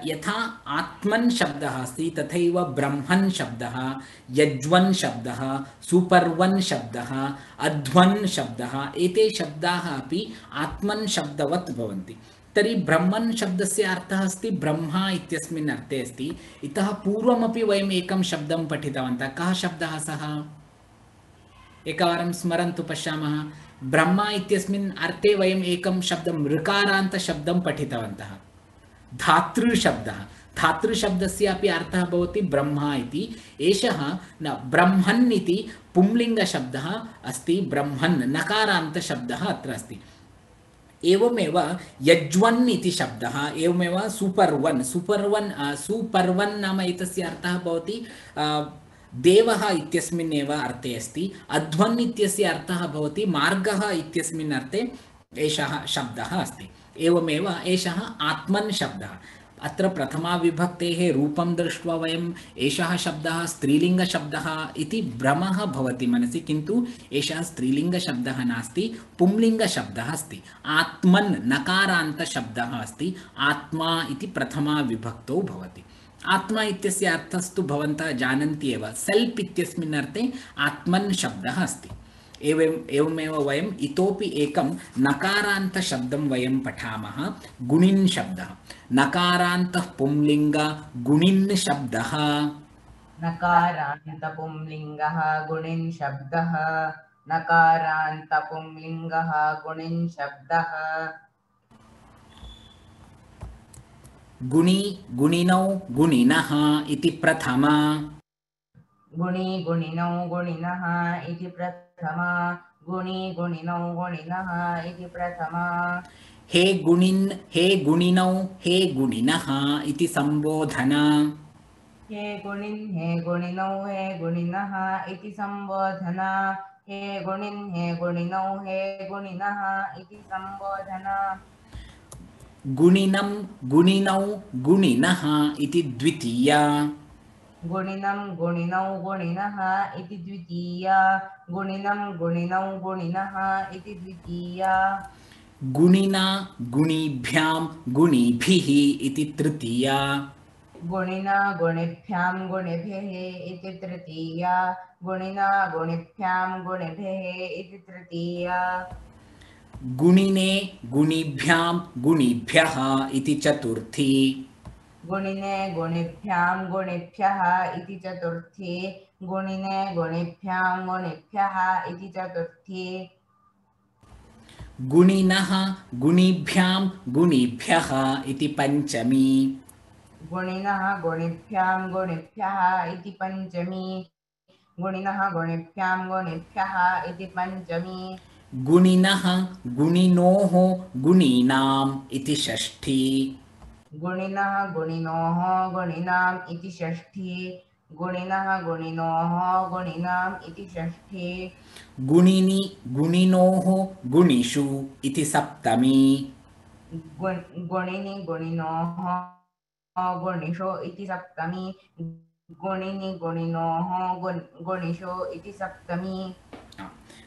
यथा आत्मन् शब्दः अस्ति तथैव ब्रह्मन् शब्दः यज्वन् शब्दः सुपर्वन् शब्दः अध्वन् शब्दः एते शब्दाः अपि आत्मन् शब्दवत् भवन्ति तर्हि ब्रह्मन् शब्दस्य अर्थः अस्ति ब्रह्मा इत्यस्मिन् अर्थे अस्ति इतः पूर्वमपि वयम् एकं शब्दं पठितवन्तः कः शब्दः सः एकवारं स्मरन्तु पश्यामः ब्रह्मा इत्यस्मिन् अर्थे वयम् एकं शब्दं ऋकारान्तशब्दं पठितवन्तः धातृशब्दः धातृशब्दस्य अपि अर्थः भवति ब्रह्मा इति एषः न ब्रह्मन् इति पुंलिङ्गशब्दः अस्ति ब्रह्मन् नकारान्तशब्दः अत्र अस्ति एवमेव यज्वन् इति शब्दः एवमेव सुपर्वन् नाम एतस्य अर्थः भवति देवः इत्यस्मिन् एव अर्थे अस्ति अध्वन् इत्यस्य अर्थः भवति मार्गः इत्यस्मिन् अर्थे एषः शब्दः अस्ति एवमेव एषः आत्मन् शब्दः अत्र प्रथमा विभक्तेः रूपं दृष्ट्वा वयम् एषः शब्दः स्त्रीलिङ्गशब्दः इति भ्रमः भवति मनसि किन्तु एषः स्त्रीलिङ्गशब्दः नास्ति पुंलिङ्गशब्दः अस्ति आत्मन् नकारान्तशब्दः अस्ति आत्मा इति प्रथमा विभक्तौ भवति आत्मा इत्यस्य अर्थस्तु भवन्तः जानन्ति एव सेल्फ इत्यस्मिन् अर्थे आत्मन् शब्दः अस्ति एवमेव वयम् इतोपि एकं नकारान्तशब्दं वयं पठामः गुणिन् शब्दः नकारान्तः पुंलिङ्ग गुणिन् शब्दः नकारान्तपुंलिङ्गः गुणिन् शब्दः नकारान्तपुंलिङ्गः गुणिन् शब्दः गुणि गुणिनौ गुणिनः इति प्रथमा गुणि गुणिनौ गुणिनः इति प्रथमा गुणि गुणिनौ गुणिनः इति प्रथमा हे गुणिन् हे गुणिनौ हे गुणिनः इति संबोधना हे गुणिन् हे गुणिनौ हे गुणिनः इति संबोधना हे गुणिन् हे गुणिनौ हे गुणिनः इति संबोधना गुणिनं गुणिनौ गुणिनः इति द्वितीया गुणिनं गुणिनौ गुणिनः इति द्वितीया गुणिनं गुणिनौ गुणिनः इति द्वितीया गुणिना गुणिभ्यां गुणिभिः इति तृतीया गुणिना गुणिभ्यां गुणिभिः इति तृतीया गुणिना गुणिभ्यां गुणिभिः इति तृतीया गुणिने गुणिभ्यां गुणिभ्यः इति चतुर्थी गुणिने गुणिभ्यां गुणिभ्यः इति चतुर्थी गुणिने गुणिभ्यां गुणिभ्यः इति चतुर्थी गुणिनः गुणिभ्यां गुणिभ्यः इति पञ्चमी गुणिनः गुणिभ्यां गुणिभ्यः इति पञ्चमी गुणिनः गुणिभ्यां गुणिभ्यः इति पञ्चमी गुणिनः गुणिनोः गुणीनाम् इति षष्ठी गुणिनः गुणिनोः गुणिनाम् इति षष्ठी गुणिनः गुणिनोः गुणिनाम् इति षष्ठी गुणिनि गुणिनोः गुणिषु इति सप्तमी गुणिनि गुणिनोः गुणिषु इति सप्तमी गुणिनि गुणिनोः गुणिषु इति सप्तमी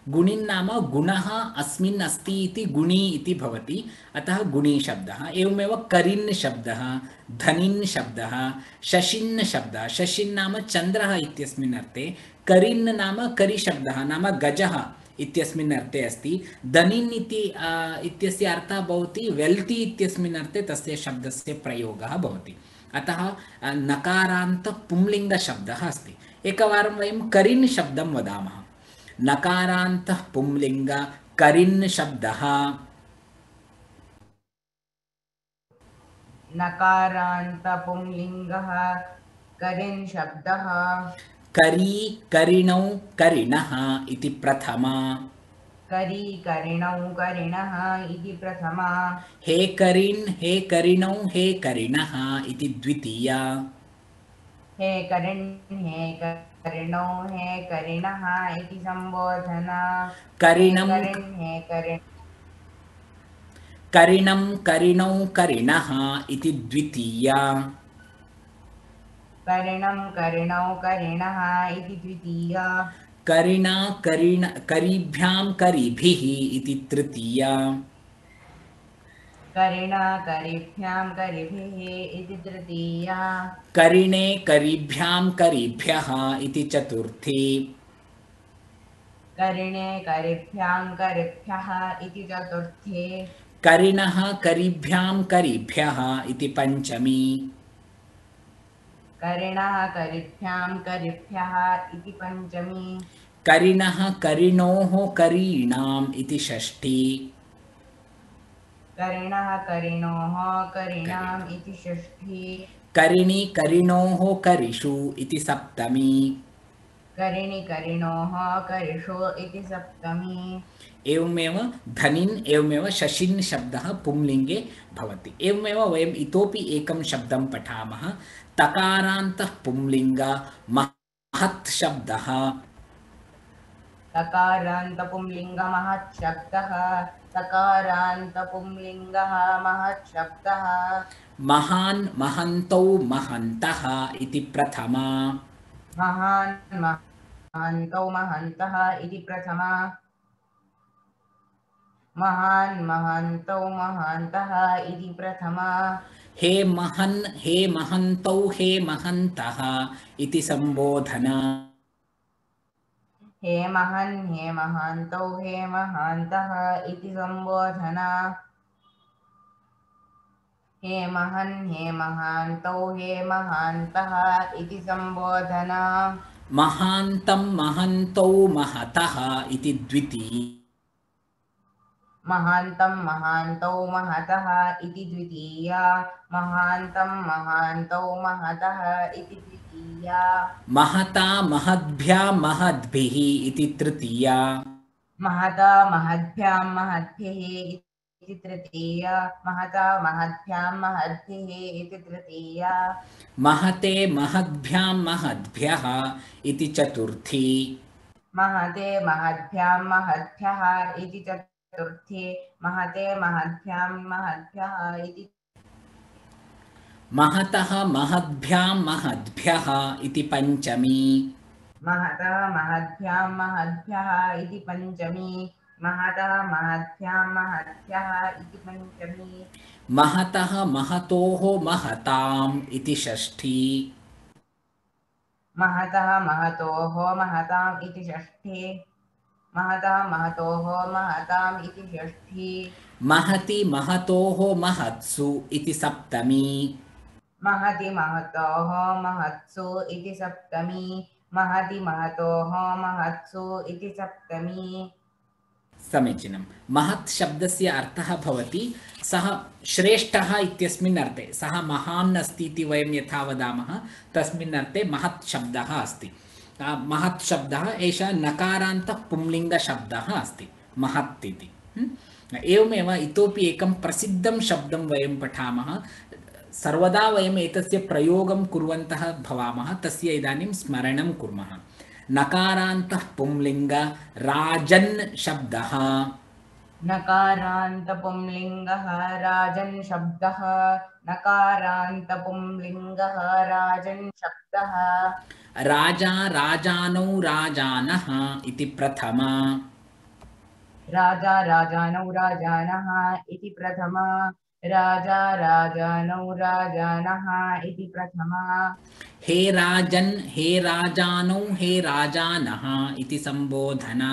गुणिन् नाम गुणः अस्मिन् अस्ति इति गुणी इति भवति अतः गुणी शब्दः एवमेव करिन् शब्दः धनिन् शब्दः शशिन् शब्दः शशिन् नाम चन्द्रः इत्यस्मिन् अर्थे करिन् नाम करिशब्दः नाम गजः इत्यस्मिन् अर्थे अस्ति धनिन् इत्यस्य अर्थः भवति वेल्ति इत्यस्मिन् अर्थे तस्य शब्दस्य प्रयोगः भवति अतः नकारान्त पुंलिङ्गशब्दः अस्ति एकवारं वयं करिन् शब्दं वदामः नकारान्तः पुंलिङ्ग करिन् शब्दः नकारान्तपुंलिङ्गः करिन् शब्दः करी करिणौ करिणः इति प्रथमा करी करिणौ करिणः इति प्रथमा हे करिन् हे करिणौ हे करिणः इति द्वितीया हे करिण्ये करिणो हे करिणः इति सम्बोधना हे करिणं करिण्ये करिणं करिणौ करिणः इति द्वितीया करिणं करिणौ करिणः इति द्वितीया करिणा करिभ्यां करिभिः इति तृतीया करिणा करिभ्यां करिभिः इति तृतीया करिणे करिभ्यां करिभ्यः इति चतुर्थी करिणे करिभ्यां करिभ्यः इति चतुर्थी करिणः करिभ्यां करिभ्यः इति पञ्चमी करिणः करिभ्यां करिभ्यः इति पञ्चमी करिणः करिणोः करीणाम् इति षष्ठी करिणः करिणोः करिणाम् इति षष्ठी करिणी करिणोः करिषु इति सप्तमी करिणि करिणोः करिषु इति सप्तमी एवमेव धनिन् एवमेव शशिन् शब्दः पुंलिङ्गे भवति। एवमेव वयम् इतोपि एकं शब्दं पठामः। तकारान्तः पुंलिङ्ग महत् शब्दः तकारान्तपुंलिङ्गः महत् शब्दः तकारान्तपुंलिङ्गः महत् शब्दः महान् महन्तौ महन्तः इति प्रथमा महान् महन्तौ महन्तः इति प्रथमा महान् महन्तौ महन्तः इति प्रथमा हे महन् हे महन्तौ हे महन्तः इति सम्बोधना हे महन् हे महन्तौ हे महन्तः इति सम्बोधना हे महन् हे महन्तौ हे महन्तः इति सम्बोधना महान्तं महन्तौ महतः इति द्वितीया महान्तं महान्तौ महतः इति द्वितीया महान्तं महान्तौ महतः इति द्वितीया महता महद्भ्या महद्भिः इति तृतीया महता महद्भ्यां महद्भिः इति तृतीया महता महद्भ्यां महद्भिः इति तृतीया महते महद्भ्यां महद्भ्यः इति चतुर्थी महते महद्भ्यां महद्भ्यः इति चतुर्थी महते महद्भ्यां महद्भ्यः इति महतः महद्भ्यां महद्भ्यः इति पञ्चमी महतः महद्भ्यां महद्भ्यः इति पञ्चमी महतः महद्भ्यां महद्भ्यः इति पञ्चमी महतः महतोः महताम् इति षष्ठी महतः महतोः महताम् इति षष्ठी महतः महतोः महताम् इति षष्ठी महति महतोः महत्सु इति सप्तमी महति महतोः महत्सु इति सप्तमी महति महतोः महत्सु इति सप्तमी समीचीनं। महत् शब्दस्य अर्थः भवति सः श्रेष्ठः इत्यस्मिन् अर्थे, सः महान् अस्ति इति वयं यथा वदामः तस्मिन् अर्थे महत् शब्दः अस्ति। महत् शब्दः एषः नकारान्तः पुंलिङ्गशब्दः अस्ति महत् इति। एवमेव इतोपि एकं प्रसिद्धं शब्दं वयं पठामः। सर्वदा वयम् एतस्य प्रयोगं कुर्वन्तः भवामः, तस्य इदानीं स्मरणं कुर्मः। नकारान्तः पुंलिङ्ग राजन् शब्दः नकारान्तपुंलिङ्गः राजन् शब्दः नकारान्तपुंलिङ्गः राजन् शब्दः राजा राजानौ राजानः इति प्रथमा राजा राजानौ राजानः इति प्रथमा राजा राजानौ राजानः इति प्रथमा हे राजन् हे राजानौ हे राजानः इति सम्बोधना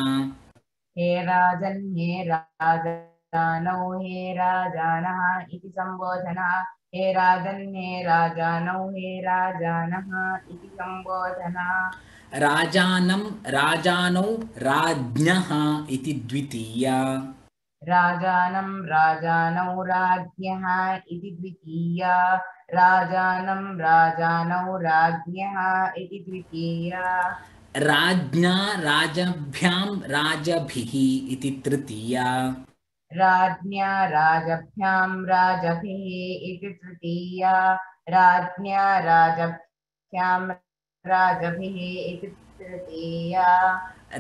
हे राजन् हे राजानौ हे राजानः इति सम्बोधना हे राजन् हे राजानौ हे राजानः इति सम्बोधना राजानं राजानौ राज्ञः इति द्वितीया राजानं राजानौ राज्ञः इति द्वितीया राजानं राजानौ राज्ञः इति द्वितीया राज्ञा राजभ्यां राजभिः इति तृतीया राज्ञा राजभ्यां राजभिः इति तृतीया राज्ञा राजभ्यां राजभ्यां राजभिः इति तृतीया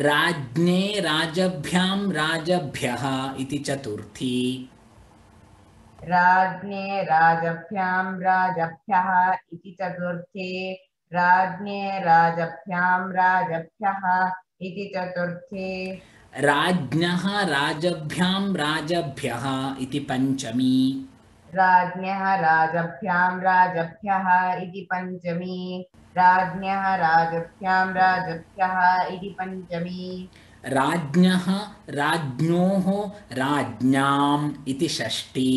राज्ञे राजभ्यां राजभ्यः इति चतुर्थी राज्ञे राजभ्यां राजभ्यः इति चतुर्थी राज्ञे राजभ्यां राजभ्यः इति चतुर्थी राज्ञः राजभ्यां राजभ्यः इति पञ्चमी राज्ञः राजभ्यां राजभ्यः इति पञ्चमी राज्ञः राजभ्यां राजभ्यः इति पञ्चमी राज्ञः राज्ञोः राज्ञाम् इति षष्ठी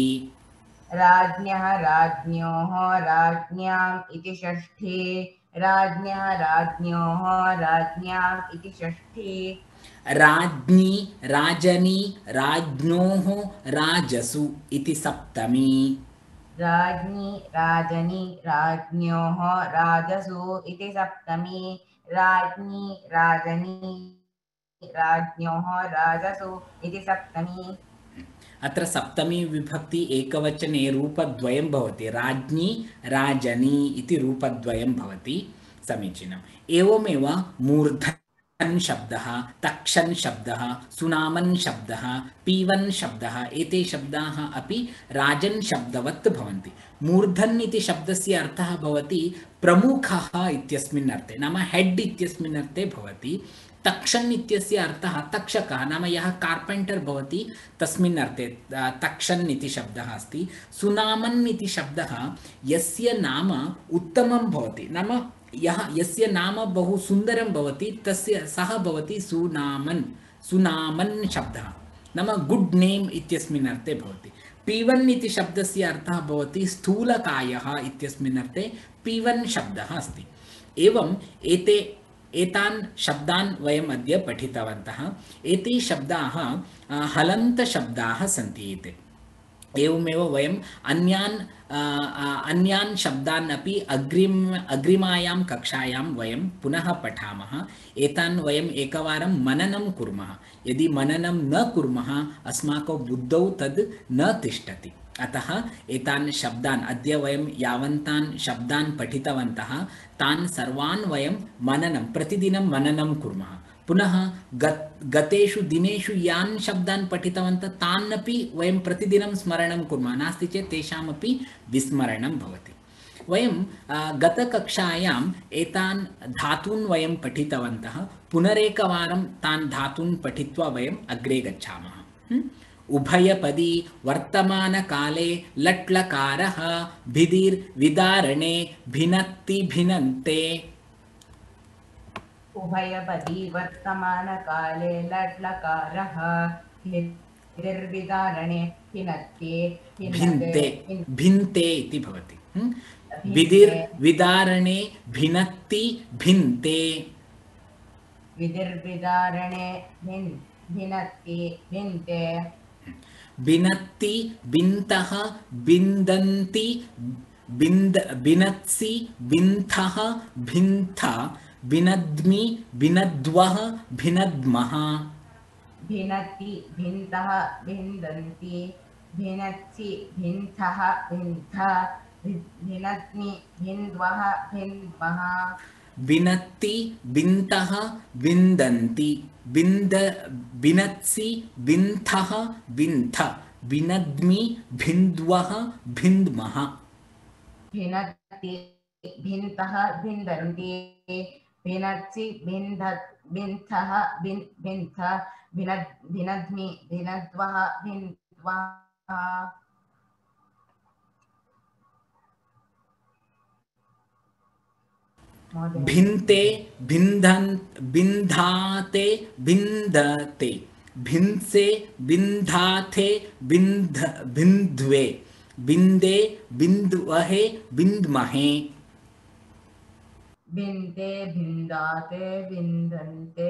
राज्ञः राज्ञोः राज्ञाम् इति षष्ठी राज्ञः राज्ञोः राज्ञाम् इति षष्ठी राज्ञी राजनी राज्ञोः राजसु इति सप्तमी राज्ञी राजनी राज्ञोः राजसु इति सप्तमी राज्ञी राजनी राज्ञोः राजसु इति सप्तमी अत्र सप्तमी विभक्ति एकवचने रूपद्वयं भवति राज्ञी राजनी इति रूपद्वयं भवति समीचीनम् एवमेव मूर्धन् शब्दः तक्षन् शब्दः सुनामन् शब्दः पीवन् शब्दः एते शब्दाः अपि राजन् शब्दवत् भवन्ति मूर्धन् इति शब्दस्य अर्थः भवति प्रमुखः इत्यस्मिन् अर्थे नाम हेड् इत्यस्मिन् अर्थे भवति तक्षन् इत्यस्य अर्थः तक्षकः नाम यः कार्पेण्टर् भवति तस्मिन् अर्थे तक्षन् इति शब्दः अस्ति सुनामन् इति शब्दः यस्य नाम उत्तमं भवति नाम यस्य नाम बहु सुन्दरं भवति तस्य सः भवति सुनामन् सुनामन् शब्दः नाम गुड् नेम् इत्यस्मिन् अर्थे भवति पीवन् इति शब्दस्य अर्थः भवति स्थूलकायः इत्यस्मिन् अर्थे पीवन् शब्दः अस्ति एवं एतान् शब्दान् वयम् अद्य पठितवन्तः एते शब्दाः हलन्तशब्दाः सन्ति एते एवमेव वयम् अन्यान् शब्दान् अपि अग्रिमायां कक्षायां वयं पुनः पठामः एतान् वयम् एकवारं मननं कुर्मः यदि मननं न कुर्मः अस्माकं बुद्धौ तद् न तिष्ठति अतः एतान् शब्दान् अद्य वयं यावन्तान् शब्दान् पठितवन्तः तान् सर्वान् वयं प्रतिदिनं मननं कुर्मः पुनः गतेषु दिनेषु यान् शब्दान् पठितवन्तः तान् अपि वयं प्रतिदिनं स्मरणं कुर्मः नास्ति चेत् तेषामपि विस्मरणं भवति वयं गतकक्षायाम् एतान् धातून् वयं पठितवन्तः पुनरेकवारं तान् धातून् पठित्वा वयम् अग्रे गच्छामः उभयपदी वर्तमानकाले लट्लकारः भिदिर्विदारणे भिनत्ति भिनन्ते उभयपदी वर्तमानकाले लट्लकारः भिदिर्विदारणे भिनत्ति भिन्ते भिन्ते इति भवति विदिर्विदारणे भिनत्ति भिन्ते विदिर्विदारणे भिनत्ति भिन्ते बिनत्ति बिन्तः बिन्दन्ति बिनत्सि बिन्थः भिन्थ बिनद्मि बिनद्वः भिनद्मः भिनत्ति भिन्तः भिन्दन्ति भिनत्सि भिन्थः भिन्थ भिनद्मि भिन्द्वः भिन्द्मः बिनत्ति बिन्तः बिन्दन्ति बिनत्सि बिन्थः बिन्थ बिनद्मि भिन्द्वः भिन्द्मः भिनत्ति भिन्तः भिन्दन्ति भिनत्सि बिन्थः बिन्थ भिनद्मि भिनद्वः भिन्द्वः भिन्ते बिन्धाते बिन्दते भिन्से बिन्धाथे बिन्ध्वे बिन्दे बिन्द्वहे बिन्द्महे बिन्दे बिन्दाते बिन्दन्ते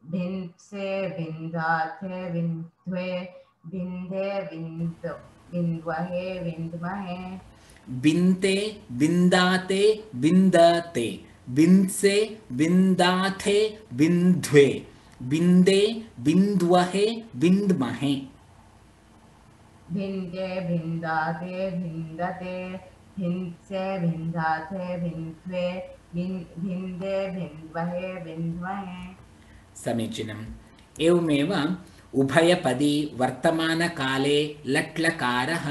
भिन्से बिन्दाथे बिन्द्वे बिन्दे बिन्द्वहे बिन्द्महे बिन्ते बिन्दाते बिन्दते बिन्से बिन्दाथे बिन्द्वे बिन्दे बिन्द्वहे बिन्द्महे भिन्दे बिन्दाते बिन्दते भिन्से बिन्दाथे बिन्द्वे भिन्दे भिन्वहे भिन्महे। समीचीनम्। एवमेव उभयपदी वर्तमानकाले लट्लकारः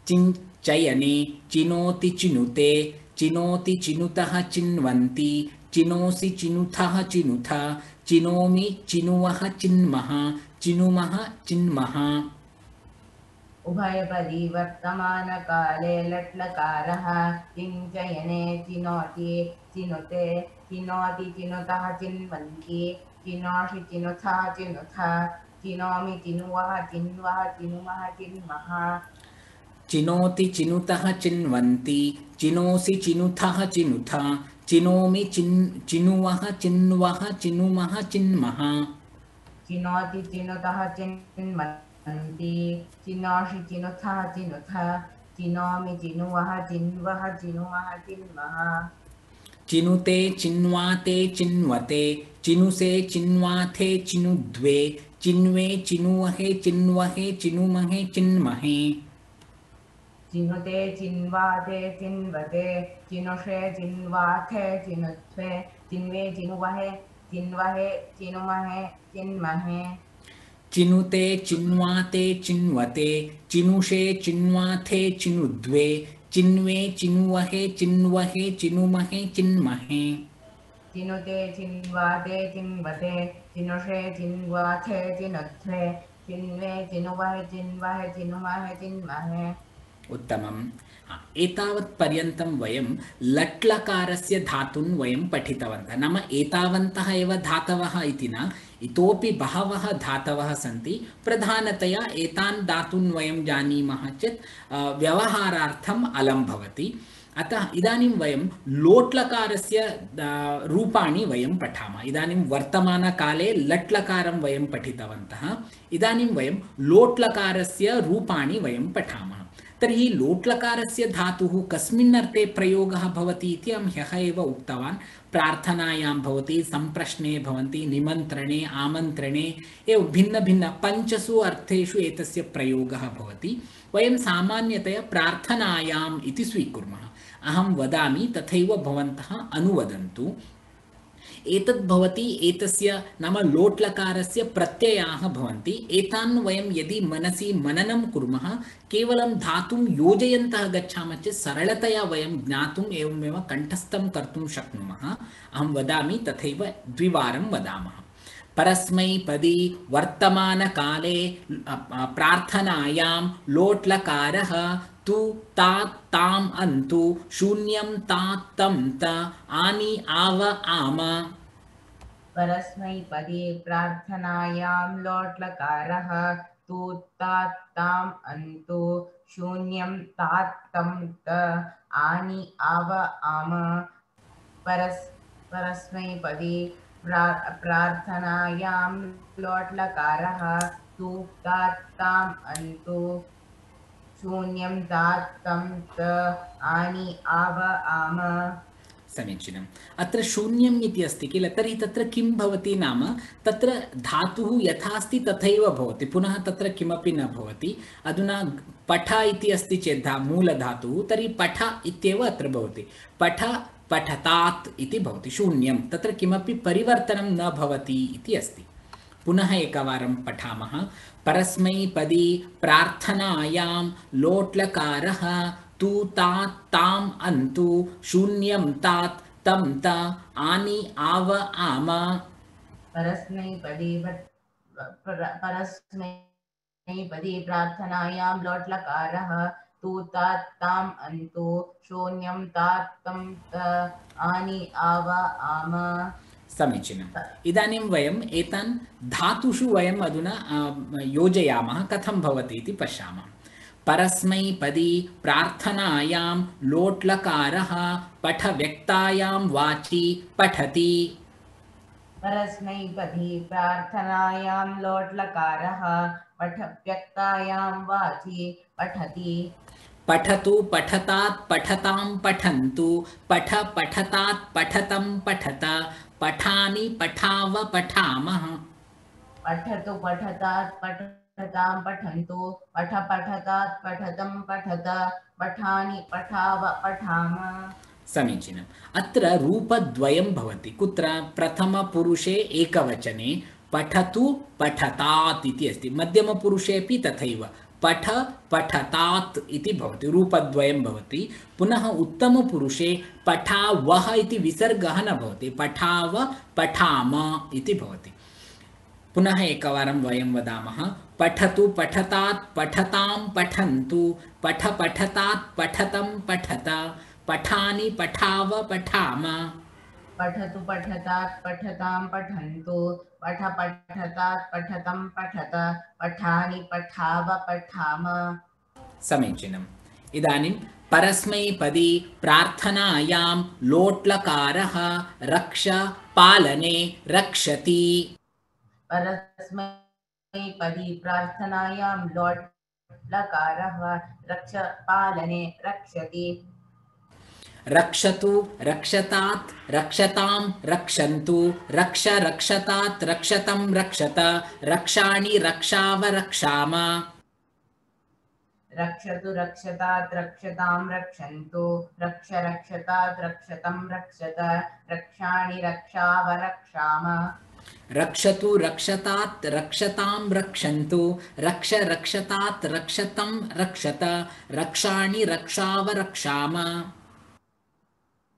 चिञ्चयने चिनोति चिनुते चिनोति चिनुतः चिन्वन्ति चिनोसि चिनुथः चिनुथ चिनोमि चिनुवः चिन्मः चिनुमः चिन्मः। उभयपदी वर्तमानकाले लट्लकारः चिञ्चयने चिनोति चिनुते चिनोति चिनुतः चिन्वन्ति चिनोषि चिनुथः चिनुथ चिनोमि चिनुवः चिन्वः चिनुमः चिन्मः। चिनोति चिनुतः चिन्वन्ति चिनोसि चिनुथः चिनुथ चिनोमि चिनुवः चिन्वः चिनुमः चिन्मः। चिनोति चिनुतः चिन्वन्ति चिनोषि चिनुथः चिनुथ चिनोमि चिनुवः चिन्वः चिनुमः चिन्मः। चिनुते चिन्वाते चिन्वते चिनुसे चिन्वाथे चिनुद्वे चिन्वे चिनुवहे चिन्वहे चिनुमहे चिन्महे। चिनुते चिन्वाते चिन्वते चिनुषे चिन्वाथे चिनुत्वे चिन्वे चिनुवहे चिन्वहे चिनुमहे चिन्महे। चिनुते चिन्वाते चिन्वते चिनुषे चिन्वाथे चिनुद्वे चिन्वे चिनुवहे चिन्वहे चिनुमहे चिन्महे। चिनुते चिन्वाते चिन्वते चिनुषे चिन्वाथे चिनुत्वे चिन्वे चिनुवहे चिन्वहे चिनुमहे चिन्महे। उत्तमम्। एतावत् पर्यन्तं वयं लट्लकारस्य धातून् वयं पठितवन्तः। नाम एतावन्तः एव धातवः इति न, इतोपि बहवः धातवः सन्ति। प्रधानतया एतान् धातून् वयं जानीमः चेत् व्यवहारार्थम् अलं भवति। अतः इदानीं वयं लोट्लकारस्य रूपाणि वयं पठामः। इदानीं वर्तमानकाले लट्लकारं वयं पठितवन्तः। इदानीं वयं लोट्लकारस्य रूपाणि वयं पठामः। तर्हि लोट्लकारस्य धातुः कस्मिन् अर्थे प्रयोगः भवति इति अहं ह्यः एव उक्तवान्। प्रार्थनायां भवति, सम्प्रश्ने भवन्ति, निमन्त्रणे, आमन्त्रणे एवं भिन्नभिन्न पञ्चसु अर्थेषु एतस्य प्रयोगः भवति। वयं सामान्यतया प्रार्थनायाम् इति स्वीकुर्मः। अहं वदामि तथैव भवन्तः अनुवदन्तु। एतद् भवति एतस्य नाम लोट्लकारस्य प्रत्ययाः भवन्ति। एतान् वयं यदि मनसि मननं कुर्मः, केवलं धातुं योजयन्तः गच्छामः चेत् सरलतया वयं ज्ञातुम् एवमेव कण्ठस्थं कर्तुं शक्नुमः। अहं वदामि तथैव द्विवारं वदामः। परस्मैपदी वर्तमानकाले प्रार्थनायां लोट्लकारः तु तात ताम अंतु शून्यं तात तम त आनि आव आम। परस्मैपदी प्रार्थनायां लोट्लकारः तु तात ताम् अन्तु शून्यं तात तं त आनि आव आम। परस्मैपदी प्रार्थनायां लोट्लकारः तु तात ताम् अन्तु शून्यं तात तं त आनि आव आम। समीचीनम्। अत्र शून्यम् इति अस्ति किल, तर्हि तत्र किं भवति नाम तत्र धातुः यथा अस्ति तथैव भवति, पुनः तत्र किमपि न भवति। अधुना पठ इति अस्ति चेत् मूलधातुः, तर्हि पठ इत्येव अत्र भवति। पठ पठतात् इति भवति, शून्यं, तत्र किमपि परिवर्तनं न भवति इति अस्ति। पुनः एकवारं पठामः। परस्मैपदी प्रार्थनायां लोट्लकारः तु तात ताम अंतु शून्यं तात तं त आनि आव आम। परस्मैपदी प्रार्थनायां लोट्लकारः तु तात ताम अंतु शून्यं तात तं त आनि आव आम। समीचीनम्। इदानीं वयम् एतान् धातुषु वयम् अधुना योजयामः, कथं भवति इति पश्यामः। परस्मैपदी प्रार्थनायां लोट्लकारः पठ व्यक्तायां वाचि पठति। परस्मैपदी प्रार्थनायां लोट्लकारः पठ व्यक्तायां वाचि पठति। पठतु पठतात् पठतां पठन्तु पठ पठतात् पठतं पठत पठानि पठाव पठामः। पठतु पठतात् पठतां पठन्तु पठ पठतात् पठतं पठत पठानि पठाव पठाम। समीचीनम्। अत्र रूपद्वयं भवति। कुत्र? प्रथमपुरुषे एकवचने पठतु पठतात् इति अस्ति, मध्यमपुरुषे अपि तथैव पठ पठतात् इति भवति, रूपद्वयं भवति। पुनः उत्तमपुरुषे पठावः इति विसर्गः न भवति, पठाव पठाम इति भवति। पुनः एकवारं वयं वदामः, पठतु पठतात् पठतां पठन्तु, पठ पठतात् पठतं पठत, पठानि पठाव पठाम। पठतु पठतात् पठतां पठन्तु, पठ पठतात् पठतं पठत, पठानि पठाव पठाम। समीचीनम्। इदानीं परस्मैपदी प्रार्थनायां लोट्लकारः रक्ष पालने रक्षति। परस्मैपदी प्रार्थनायां लोट् लकारः रक्ष पालने रक्षति। रक्षतु रक्षतात् रक्षतां रक्षन्तु, रक्ष रक्षतात् रक्षतं रक्षत, रक्षाणि रक्षाव रक्षाम। रक्षतु रक्षतात् रक्षतां रक्षन्तु, रक्ष रक्षतात् रक्षतं रक्षत, रक्षाणि रक्षाव रक्षाम। रक्षतु रक्षतात् रक्षतां रक्षन्तु, रक्ष रक्षतात् रक्षतं रक्षत, रक्षाणि रक्षाव रक्षाम।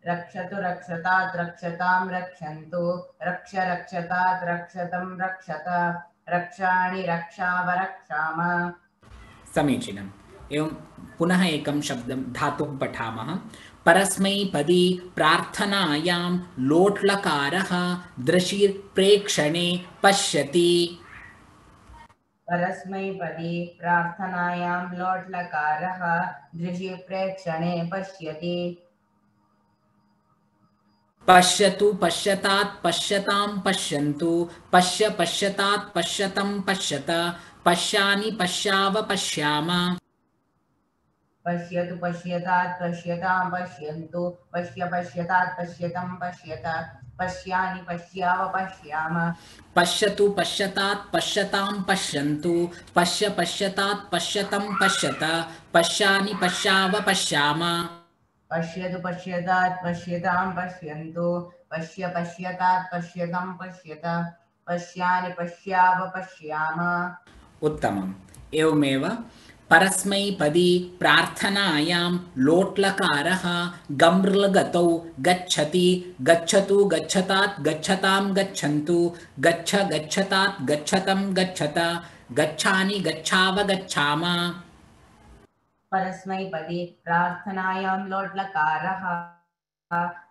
रक्षतु रक्षतात् रक्षतां रक्षन्तु, रक्ष रक्षतात् रक्षतं रक्षत, रक्षाणि रक्षाव रक्षाम। समीचीनम्। एवं पुनः एकं शब्दं धातुं पठामः। परस्मैपदी प्रार्थनायां लोट्लकारः दृशिर्प्रेक्षणे पश्यति। परस्मैपदी प्रार्थनायां लोट्लकारः दृशिप्रेक्षणे पश्यति। पश्यतु पश्यतात् पश्यतां पश्यन्तु, पश्य पश्यतात् पश्यतं पश्यत, पश्यानि पश्याव पश्याम। पश्यतु पश्यतात् पश्यतां पश्यन्तु, पश्य पश्यतात् पश्यतं पश्यत, पश्यानि पश्याव पश्याम। पश्यतु पश्यतात् पश्यतां पश्यन्तु, पश्य पश्यतात् पश्यतं पश्यत, पश्यानि पश्याव पश्याम। पश्यतु पश्यतात् पश्यतां पश्यन्तु, पश्य पश्यतात् पश्यतं पश्यत, पश्यानि पश्याव पश्याम। उत्तमम्। एवमेव परस्मैपदी प्रार्थनायां लोट्लकारः गम्र्लगतौ गच्छति, गच्छतु गच्छतात् गच्छतां गच्छन्तु, गच्छ गच्छतात् गच्छतं गच्छत, गच्छानि गच्छाव गच्छाम। परस्मैपदी प्रार्थनायां लोट्लकारः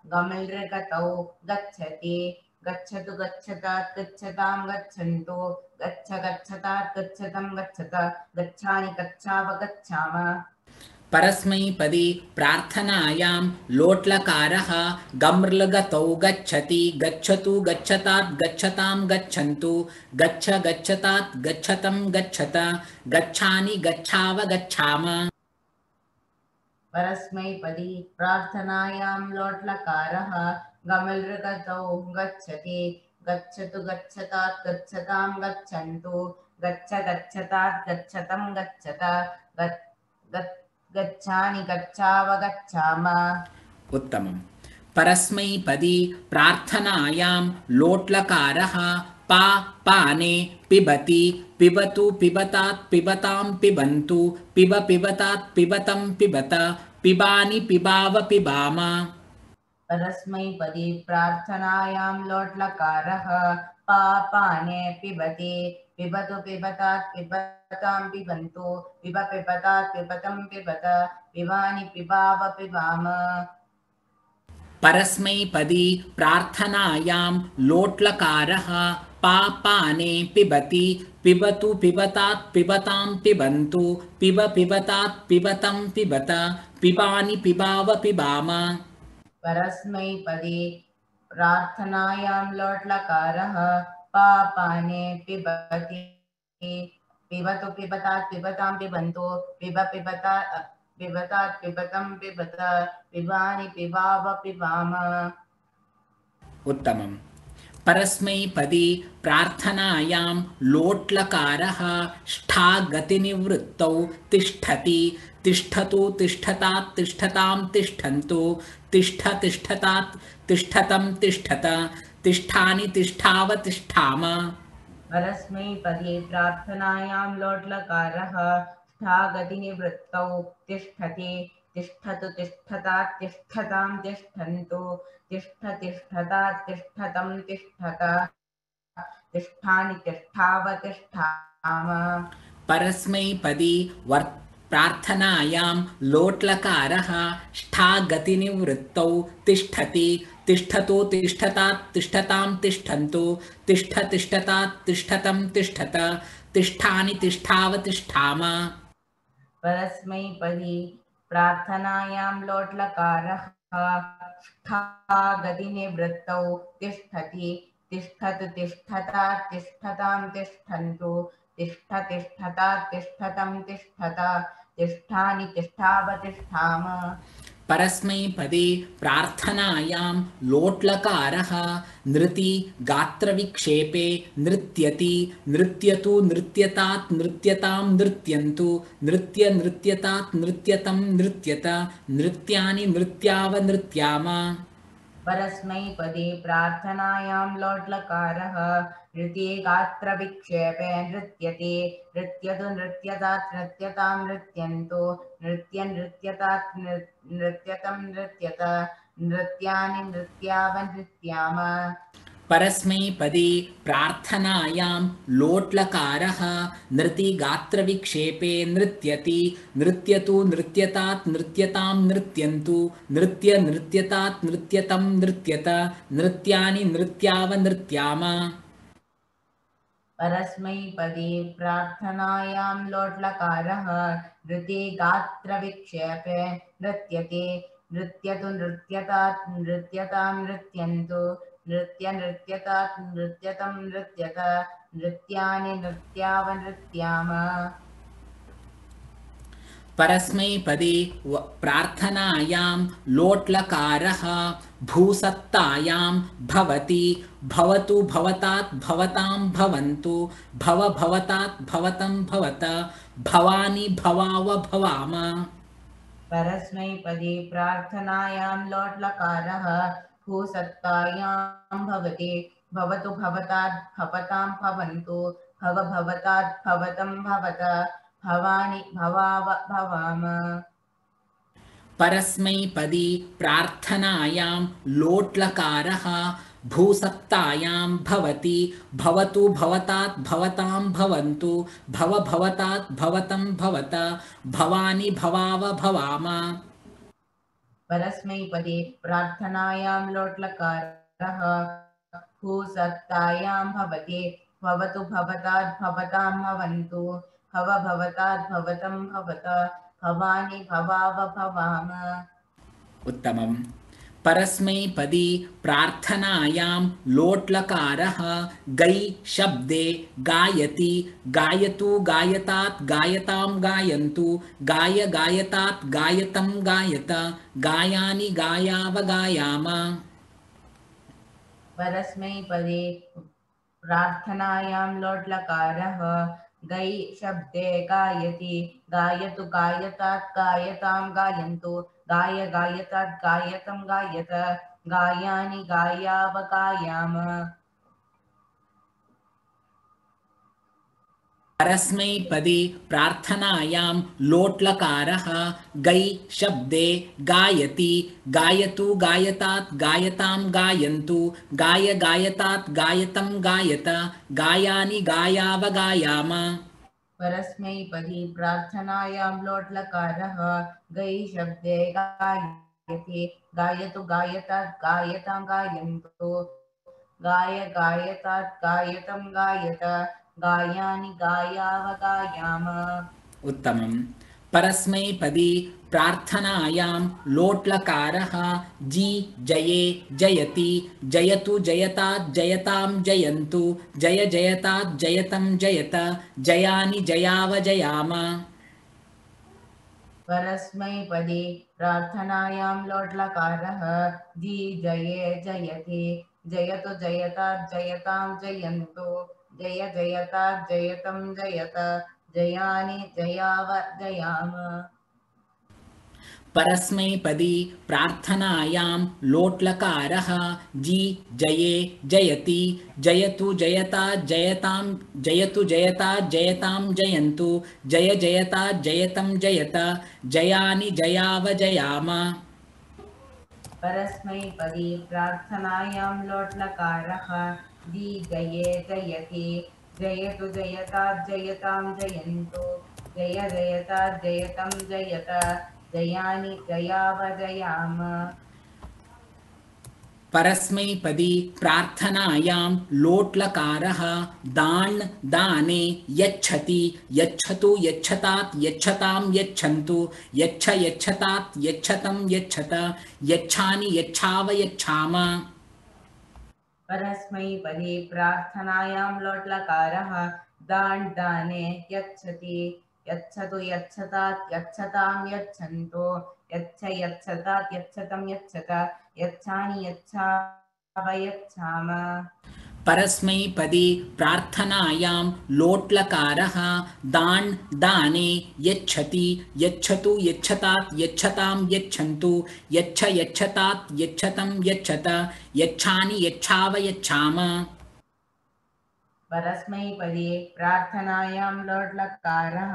गमृगतौ गच्छति, गच्छतु गच्छतात् गच्छतां गच्छन्तु, गच्छ गच्छतात् गच्छतं गच्छत, गच्छानि गच्छाव गच्छाम। परस्मैपदी प्रार्थनायां लोट्लकारः गम्र्लगतौ गच्छति, गच्छतु गच्छतात् गच्छतां गच्छन्तु, गच्छ गच्छतात् गच्छतं गच्छत, गच्छानि गच्छाव गच्छाम। परस्मैपदी प्रार्थनायां लोट्लकारः गमृगतौ गच्छति, गच्छतु गच्छतात् गच्छतां गच्छन्तु, गच्छ गच्छतात् गच्छतं गच्छत, गच्छानि गच्छाव गच्छाम। उत्तमम्। परस्मैपदी प्रार्थनायां लोट्लकारः पा पाने पिबति, पिबतु पिबतात् पिबतां पिबन्तु, पिब पिबतात् पिबतं पिबत, पिबानि पिबाव पिबाम। परस्मैपदी प्रार्थनायां लोट्लकारः पा पाने पिबति, पिबतु पिबतात् पिबतां पिबन्तु, पिब पिबतात् पिबतं पिबत, पिबानि पिबाव पिबाम। परस्मैपदी प्रार्थनायां लोट्लकारः पा पाने पिबति, पिबतु पिबतात् पिबतां पिबन्तु, पिब पिबतात् पिबतं पिबत, पिबानि पिबाव पिबाम। परस्मैपदी प्रार्थनायां लोट्लकारः पा पाने पिबति, पिबतु पिबतात् पिबतां पिबन्तु, पिब पिबतात् पिबतं पिबत, पिबानि पिबाव पिबाम। उत्तमम्। परस्मैपदी प्रार्थनायां लोट्लकारः ष्ठा गतिनिवृत्तौ तिष्ठति तिष्ठतु तिष्ठतात् तिष्ठतां तिष्ठन्तु तिष्ठ तिष्ठतात् तिष्ठतं तिष्ठत तिष्ठानि तिष्ठाव तिष्ठाम परस्मैपदी प्रार्थनायां लोट्लकारः स्थागतिनिवृत्तौ तिष्ठति तिष्ठतु तिष्ठतात् तिष्ठतां तिष्ठन्तु तिष्ठ तिष्ठतात् तिष्ठतं तिष्ठत तिष्ठानि तिष्ठावतिष्ठाम परस्मैपदी प्रार्थनायां लोट्लकारः ष्ठा गतिनिवृत्तौ तिष्ठति तिष्ठतु तिष्ठतात् तिष्ठतां तिष्ठन्तु तिष्ठ तिष्ठतात् तिष्ठतं तिष्ठत तिष्ठानि तिष्ठावतिष्ठाम परस्मैपदी प्रार्थनायां लोट्लकारः गतिनिवृत्तौ तिष्ठति तिष्ठतु तिष्ठतात् तिष्ठतां तिष्ठन्तु तिष्ठ तिष्ठतात् तिष्ठतं तिष्ठत तिष्ठानि तिष्ठावतिष्ठाम परस्मैपदी प्रार्थनायां लोट्लकारः नृति गात्रविक्षेपे नृत्यति नृत्यतु नृत्यतात् नृत्यतां नृत्यन्तु नृत्य नृत्यतात् नृत्यतं नृत्यत नृत्यानि नृत्यावनृत्याम परस्मैपदी प्रार्थनायां लोट्लकारः नृति गात्रविक्षेपे नृत्यति नृत्यतु नृत्यतात् नृत्यतां नृत्यन्तु नृत्य नृत्यतात् नृत्यतं नृत्यत नृत्यानि नृत्यावनृत्याम परस्मैपदी प्रार्थनायां लोट्लकारः नृति गात्रविक्षेपे नृत्यति नृत्यतु नृत्यतात् नृत्यतां नृत्यन्तु नृत्य नृत्यतात् नृत्यतं नृत्यत नृत्यानि नृत्यावनृत्याम परस्मैपदी प्रार्थनायां लोट्लकारः नृति गात्रविक्षेपे नृत्यति नृत्यतु नृत्यतात् नृत्यतां नृत्यन्तु नृत्य नृत्यतात् नृत्यतं नृत्यत नृत्यानि नृत्यावनृत्याम परस्मैपदी प्रार्थनायां लोट्लकारः भूसत्तायां भवति भवतु भवतात् भवतां भवन्तु भव भवतात् भवतं भवत भवानि भवाव भवाम परस्मैपदी प्रार्थनायां लोट्लकारः भूसत्तायां भवति भवतु भवतात् भवतां भवन्तु भव भवतात् भवतं भवत भवानि भवाव भवाम परस्मैपदी प्रार्थनायां लोट्लकारः भूसत्तायां भवति भवतु भवतात् भवतां भवन्तु भव भवतात् भवतं भवत भवानि भवाव भवाम परस्मैपदी प्रार्थनायां लोट्लकारः भूसत्तायां भवति भवतु भवतात् भवतां भवन्तु भव भवतात् भवतं भवत भवानि भवाव भवाम उत्तमम् परस्मैपदी प्रार्थनायां लोट्लकारः गै शब्दे गायति गायतु गायतात् गायतां गायन्तु गाय गायतात् गायतं गायत गायानि गायाव गायाम परस्मैपदी प्रार्थनायां लोट्लकारः गै शब्दे गायति गायतु गायतात् गायतां गायन्तु गाय गायतात् गायतं गायत गायानि गायाव गायाम परस्मैपदी प्रार्थनायां लोट्लकारः गै शब्दे गायति गायतु गायतात् गायतां गायन्तु गाय गायतात् गायतं गायत गायानि गायाव गायाम परस्मैपदी प्रार्थनायां लोट्लकारः गै शब्दे गायति गायतु गायतात् गायतां गायन्तु गाय गायतात् गायतं गायत गायानि गायाव गायाम उत्तमम् परस्मैपदी प्रार्थनायां लोट्लकारः जी जये जयति जयतु जयतात् जयतां जयन्तु जय जयतात् जयतं जयत जयानि जयाव जयाम परस्मैपदी प्रार्थनायां लोट्लकारः जी जये जयति जयतु जयतात् जयतां जयन्तु जय जयतात् जयतं जयत जयानि जयाव जयाम परस्मैपदी प्रार्थनायां लोट्लकारः जी जये जयति जयतु जयता जयतां जयतु जयता जयतां जयन्तु जय जयता जयतं जयत जयानि जयाव जयाम परस्मैपदी प्रार्थनायां लोट्लकारः दी जये जयति जयतु जयतात् जयतां जयन्तु जय जयतात् जयतं जयत जयानि जयाव जयाम परस्मैपदी प्रार्थनायां लोट्लकारः दान् दाने यच्छति यच्छतु यच्छतात् यच्छतां यच्छन्तु यच्छ यच्छतात् यच्छतं यच्छत यच्छानि यच्छाव यच्छाम परस्मैपदी प्रार्थनायां लोट्लकारः दान् दाने यच्छति यच्छतु यच्छतात् यच्छतां यच्छन्तु यच्छ यच्छतात् यच्छतं यच्छत यच्छानि यच्छाव यच्छाम परस्मैपदी प्रार्थनायां लोट्लकारः दान् दाने यच्छति यच्छतु यच्छतात् यच्छतां यच्छन्तु यच्छ यच्छतात् यच्छतं यच्छत यच्छानि यच्छाव यच्छाम परस्मैपदी प्रार्थनायां लोट्लकारः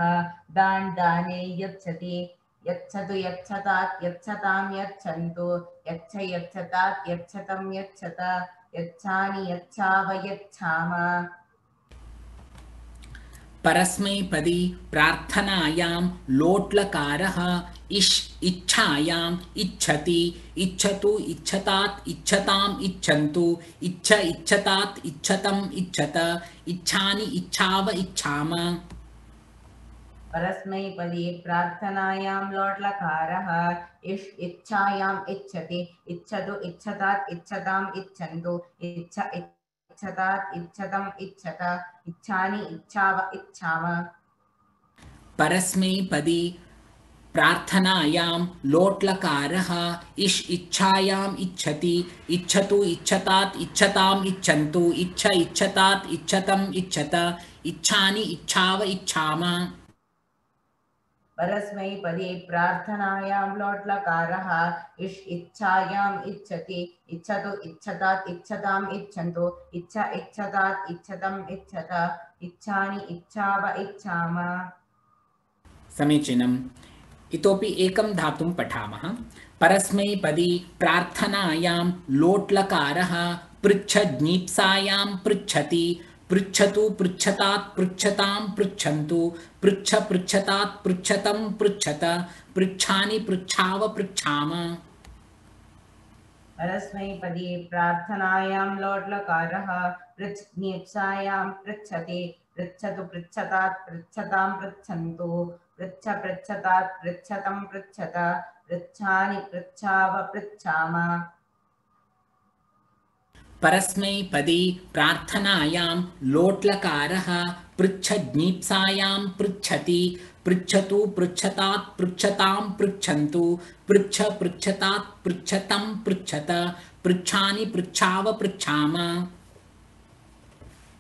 दान् दाने यच्छति यच्छतु यच्छतात् यच्छतां यच्छन्तु यच्छ यच्छतात् यच्छतं यच्छत यच्छानि यच्छाव यच्छाम परस्मैपदी प्रार्थनायां लोट्लकारः इच्छायां इच्छति इच्छतु इच्छतात् इच्छताम् इच्छन्तु इच्छ इच्छतात् इच्छतं इच्छत इच्छानि इच्छाव इच्छाम परस्मैपदी प्रार्थनायां लोट्लकारः इच्छायाम् इच्छति इच्छतु इच्छतात् इच्छताम् इच्छन्तु इच्छ इच्छतात् इच्छतम् इच्छत इच्छानि इच्छाव इच्छाम परस्मैपदी प्रार्थनायां लोट्लकारः इच्छायाम् इच्छति इच्छतु इच्छतात् इच्छताम् इच्छन्तु इच्छ इच्छतात् इच्छतम् इच्छत इच्छानि इच्छाव इच्छाम परस्मैपदी प्रार्थनायां लोट्लकारः इच्छायाम् इच्छति इच्छतु इच्छतात् इच्छताम् इच्छन्तु इच्छ इच्छतात् इच्छतम् इच्छत इच्छानि इच्छाव इच्छाम समीचीनम् इतोपि एकं धातुं पठामः परस्मैपदी प्रार्थनायां लोट्लकारः पृच्छज्ञीप्सायां पृच्छति पृच्छतु पृच्छतात् पृच्छतां पृच्छन्तु पृच्छ पृच्छतात् पृच्छतं पृच्छत पृच्छानि पृच्छाव पृच्छाम परस्मैपदी प्रार्थनायां लोट्लकारः पृच्छ्नीप्सायां पृच्छति पृच्छतु पृच्छतात् पृच्छतां पृच्छन्तु पृच्छ पृच्छतात् पृच्छतं पृच्छत पृच्छानि पृच्छाव पृच्छाम परस्मैपदी प्रार्थनायां लोट्लकारः पृच्छज्ञीप्सायां पृच्छति पृच्छतु पृच्छतात् पृच्छतां पृच्छन्तु पृच्छ पृच्छतात् पृच्छतं पृच्छत पृच्छानि पृच्छाव पृच्छाम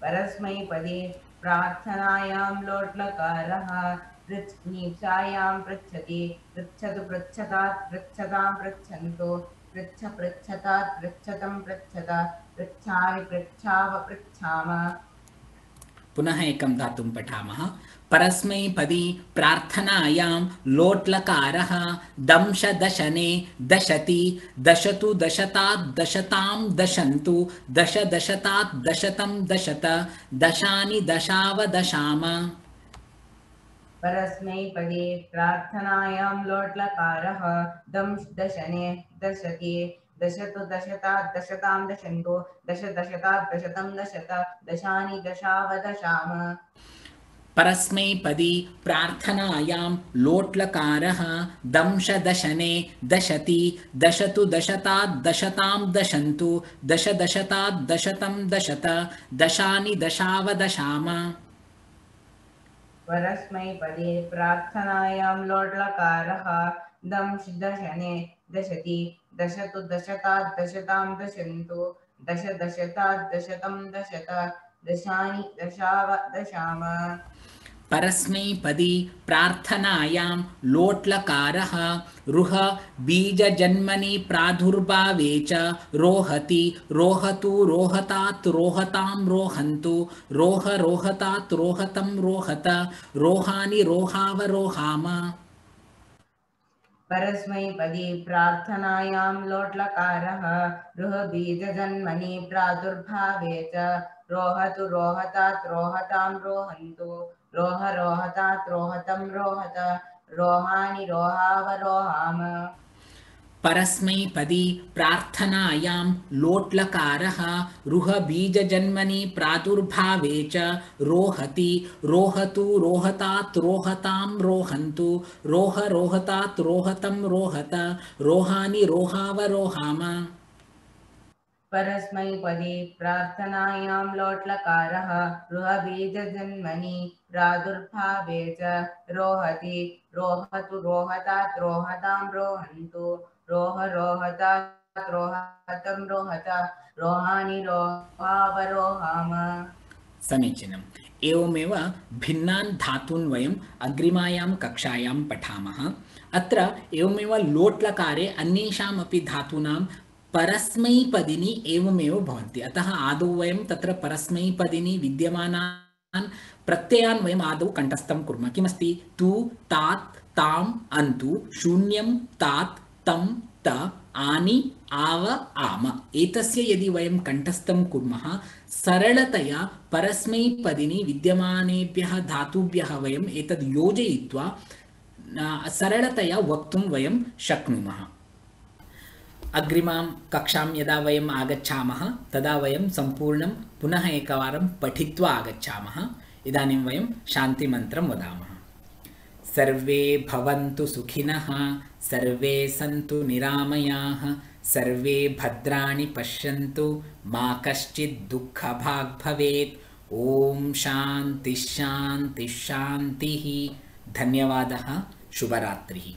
परस्मैपदी प्रार्थनायां लोट्लकारः पृच्छ्नीप्सायां पृच्छति पृच्छतु पृच्छतात् पृच्छतां पृच्छन्तु पृच्छ पृच्छतात् पृच्छतं पृच्छत पृच्छानि पृच्छाव पृच्छाम पुनः एकं धातुं पठामः परस्मैपदी प्रार्थनायां लोट्लकारः दंशदशने दशति दशतु दशतात् दशतां दशन्तु दश दशतात् दशतं दशत दशानि दशाव दशाम परस्मैपदी प्रार्थनायां लोट्लकारः दशने दशति दशतु दशतात् दशतां दशन्तु दश दशतात् दशतं दशत दशानि दशाव दशाम परस्मैपदी प्रार्थनायां लोट्लकारः दंशदशने दशति दशतु दशतात् दशतां दशन्तु दश दशतात् दशतं दशत दशानि दशाव दशाम परस्मैपदी प्रार्थनायां लोट्लकारः दशने दशति दशतु दशतात् दशतां दशन्तु दश दशतात् दशतं दशत दशानि दशाव दशाम परस्मैपदी प्रार्थनायां लोट्लकारः रुह बीजजन्मनि प्रादुर्भावे च रोहति रोहतु रोहतात् रोहतां रोहन्तु रोह रोहतात् रोहतं रोहत रोहानि रोहावरोहाम परस्मैपदी प्रार्थनायां लोट्लकारः रुहबीजजन्मनि प्रादुर्भावे च रोहतु रोहतात् रोहतां रोहन्तु रोह रोहतात् रोहतं रोहत रोहानि रोहावरोहाम परस्मैपदी प्रार्थनायां लोट्लकारः रुह बीजजन्मनि प्रादुर्भावे च रोहति रोहतु रोहतात् रोहतां रोहन्तु रोह रोहतात् रोहतं रोहत रोहानि रोहावरोहाम परस्मैपदी प्रार्थनायां लोट्लकारः रुहबीजजन्मनि प्रादुर्भावे च रोहति रोहतु रोहतात् रोहतां रोहन्तु रोह रोहतात् रोहतं रोहत रोहानि रोहावरोहाम समीचीनम् एवमेव भिन्नान् धातून् वयम् अग्रिमायां कक्षायां पठामः अत्र एवमेव लोट्लकारे अन्येषामपि धातूनां परस्मैपदिनी एवमेव भवन्ति अतः आदौ वयं तत्र परस्मैपदिनी विद्यमानान् प्रत्ययान् वयम् आदौ कण्ठस्थं कुर्मः किमस्ति तु तात् ताम् अन्तु शून्यं तात् तं त आनि आव आम एतस्य यदि वयं कण्ठस्थं कुर्मः सरलतया परस्मैपदिनी विद्यमानेभ्यः धातुभ्यः वयम् एतद् योजयित्वा सरलतया वक्तुं वयं शक्नुमः अग्रिमां कक्षां यदा वयम् आगच्छामः तदा वयं सम्पूर्णं पुनः एकवारं पठित्वा आगच्छामः इदानीं वयं शान्तिमन्त्रं वदामः सर्वे भवन्तु सुखिनः सर्वे सन्तु निरामयाः सर्वे भद्राणि पश्यन्तु मा कश्चित् दुःखभाग् भवेत् ॐ शान्ति शान्ति शान्तिः धन्यवादः शुभरात्रिः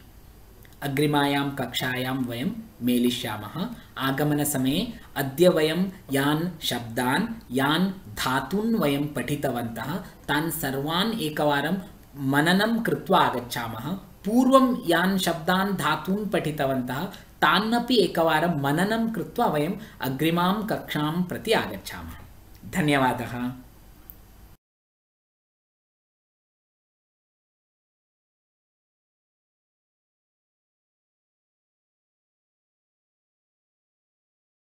अग्रिमायां कक्षायां वयं मेलिष्यामः आगमनसमये अद्य वयं यान् शब्दान् यान् धातून् वयं पठितवन्तः तान् सर्वान् एकवारं मननं कृत्वा आगच्छामः पूर्वं यान् शब्दान् धातून् पठितवन्तः तान्नपि एकवारं मननं कृत्वा वयम् अग्रिमां कक्षां प्रति आगच्छामः धन्यवादः।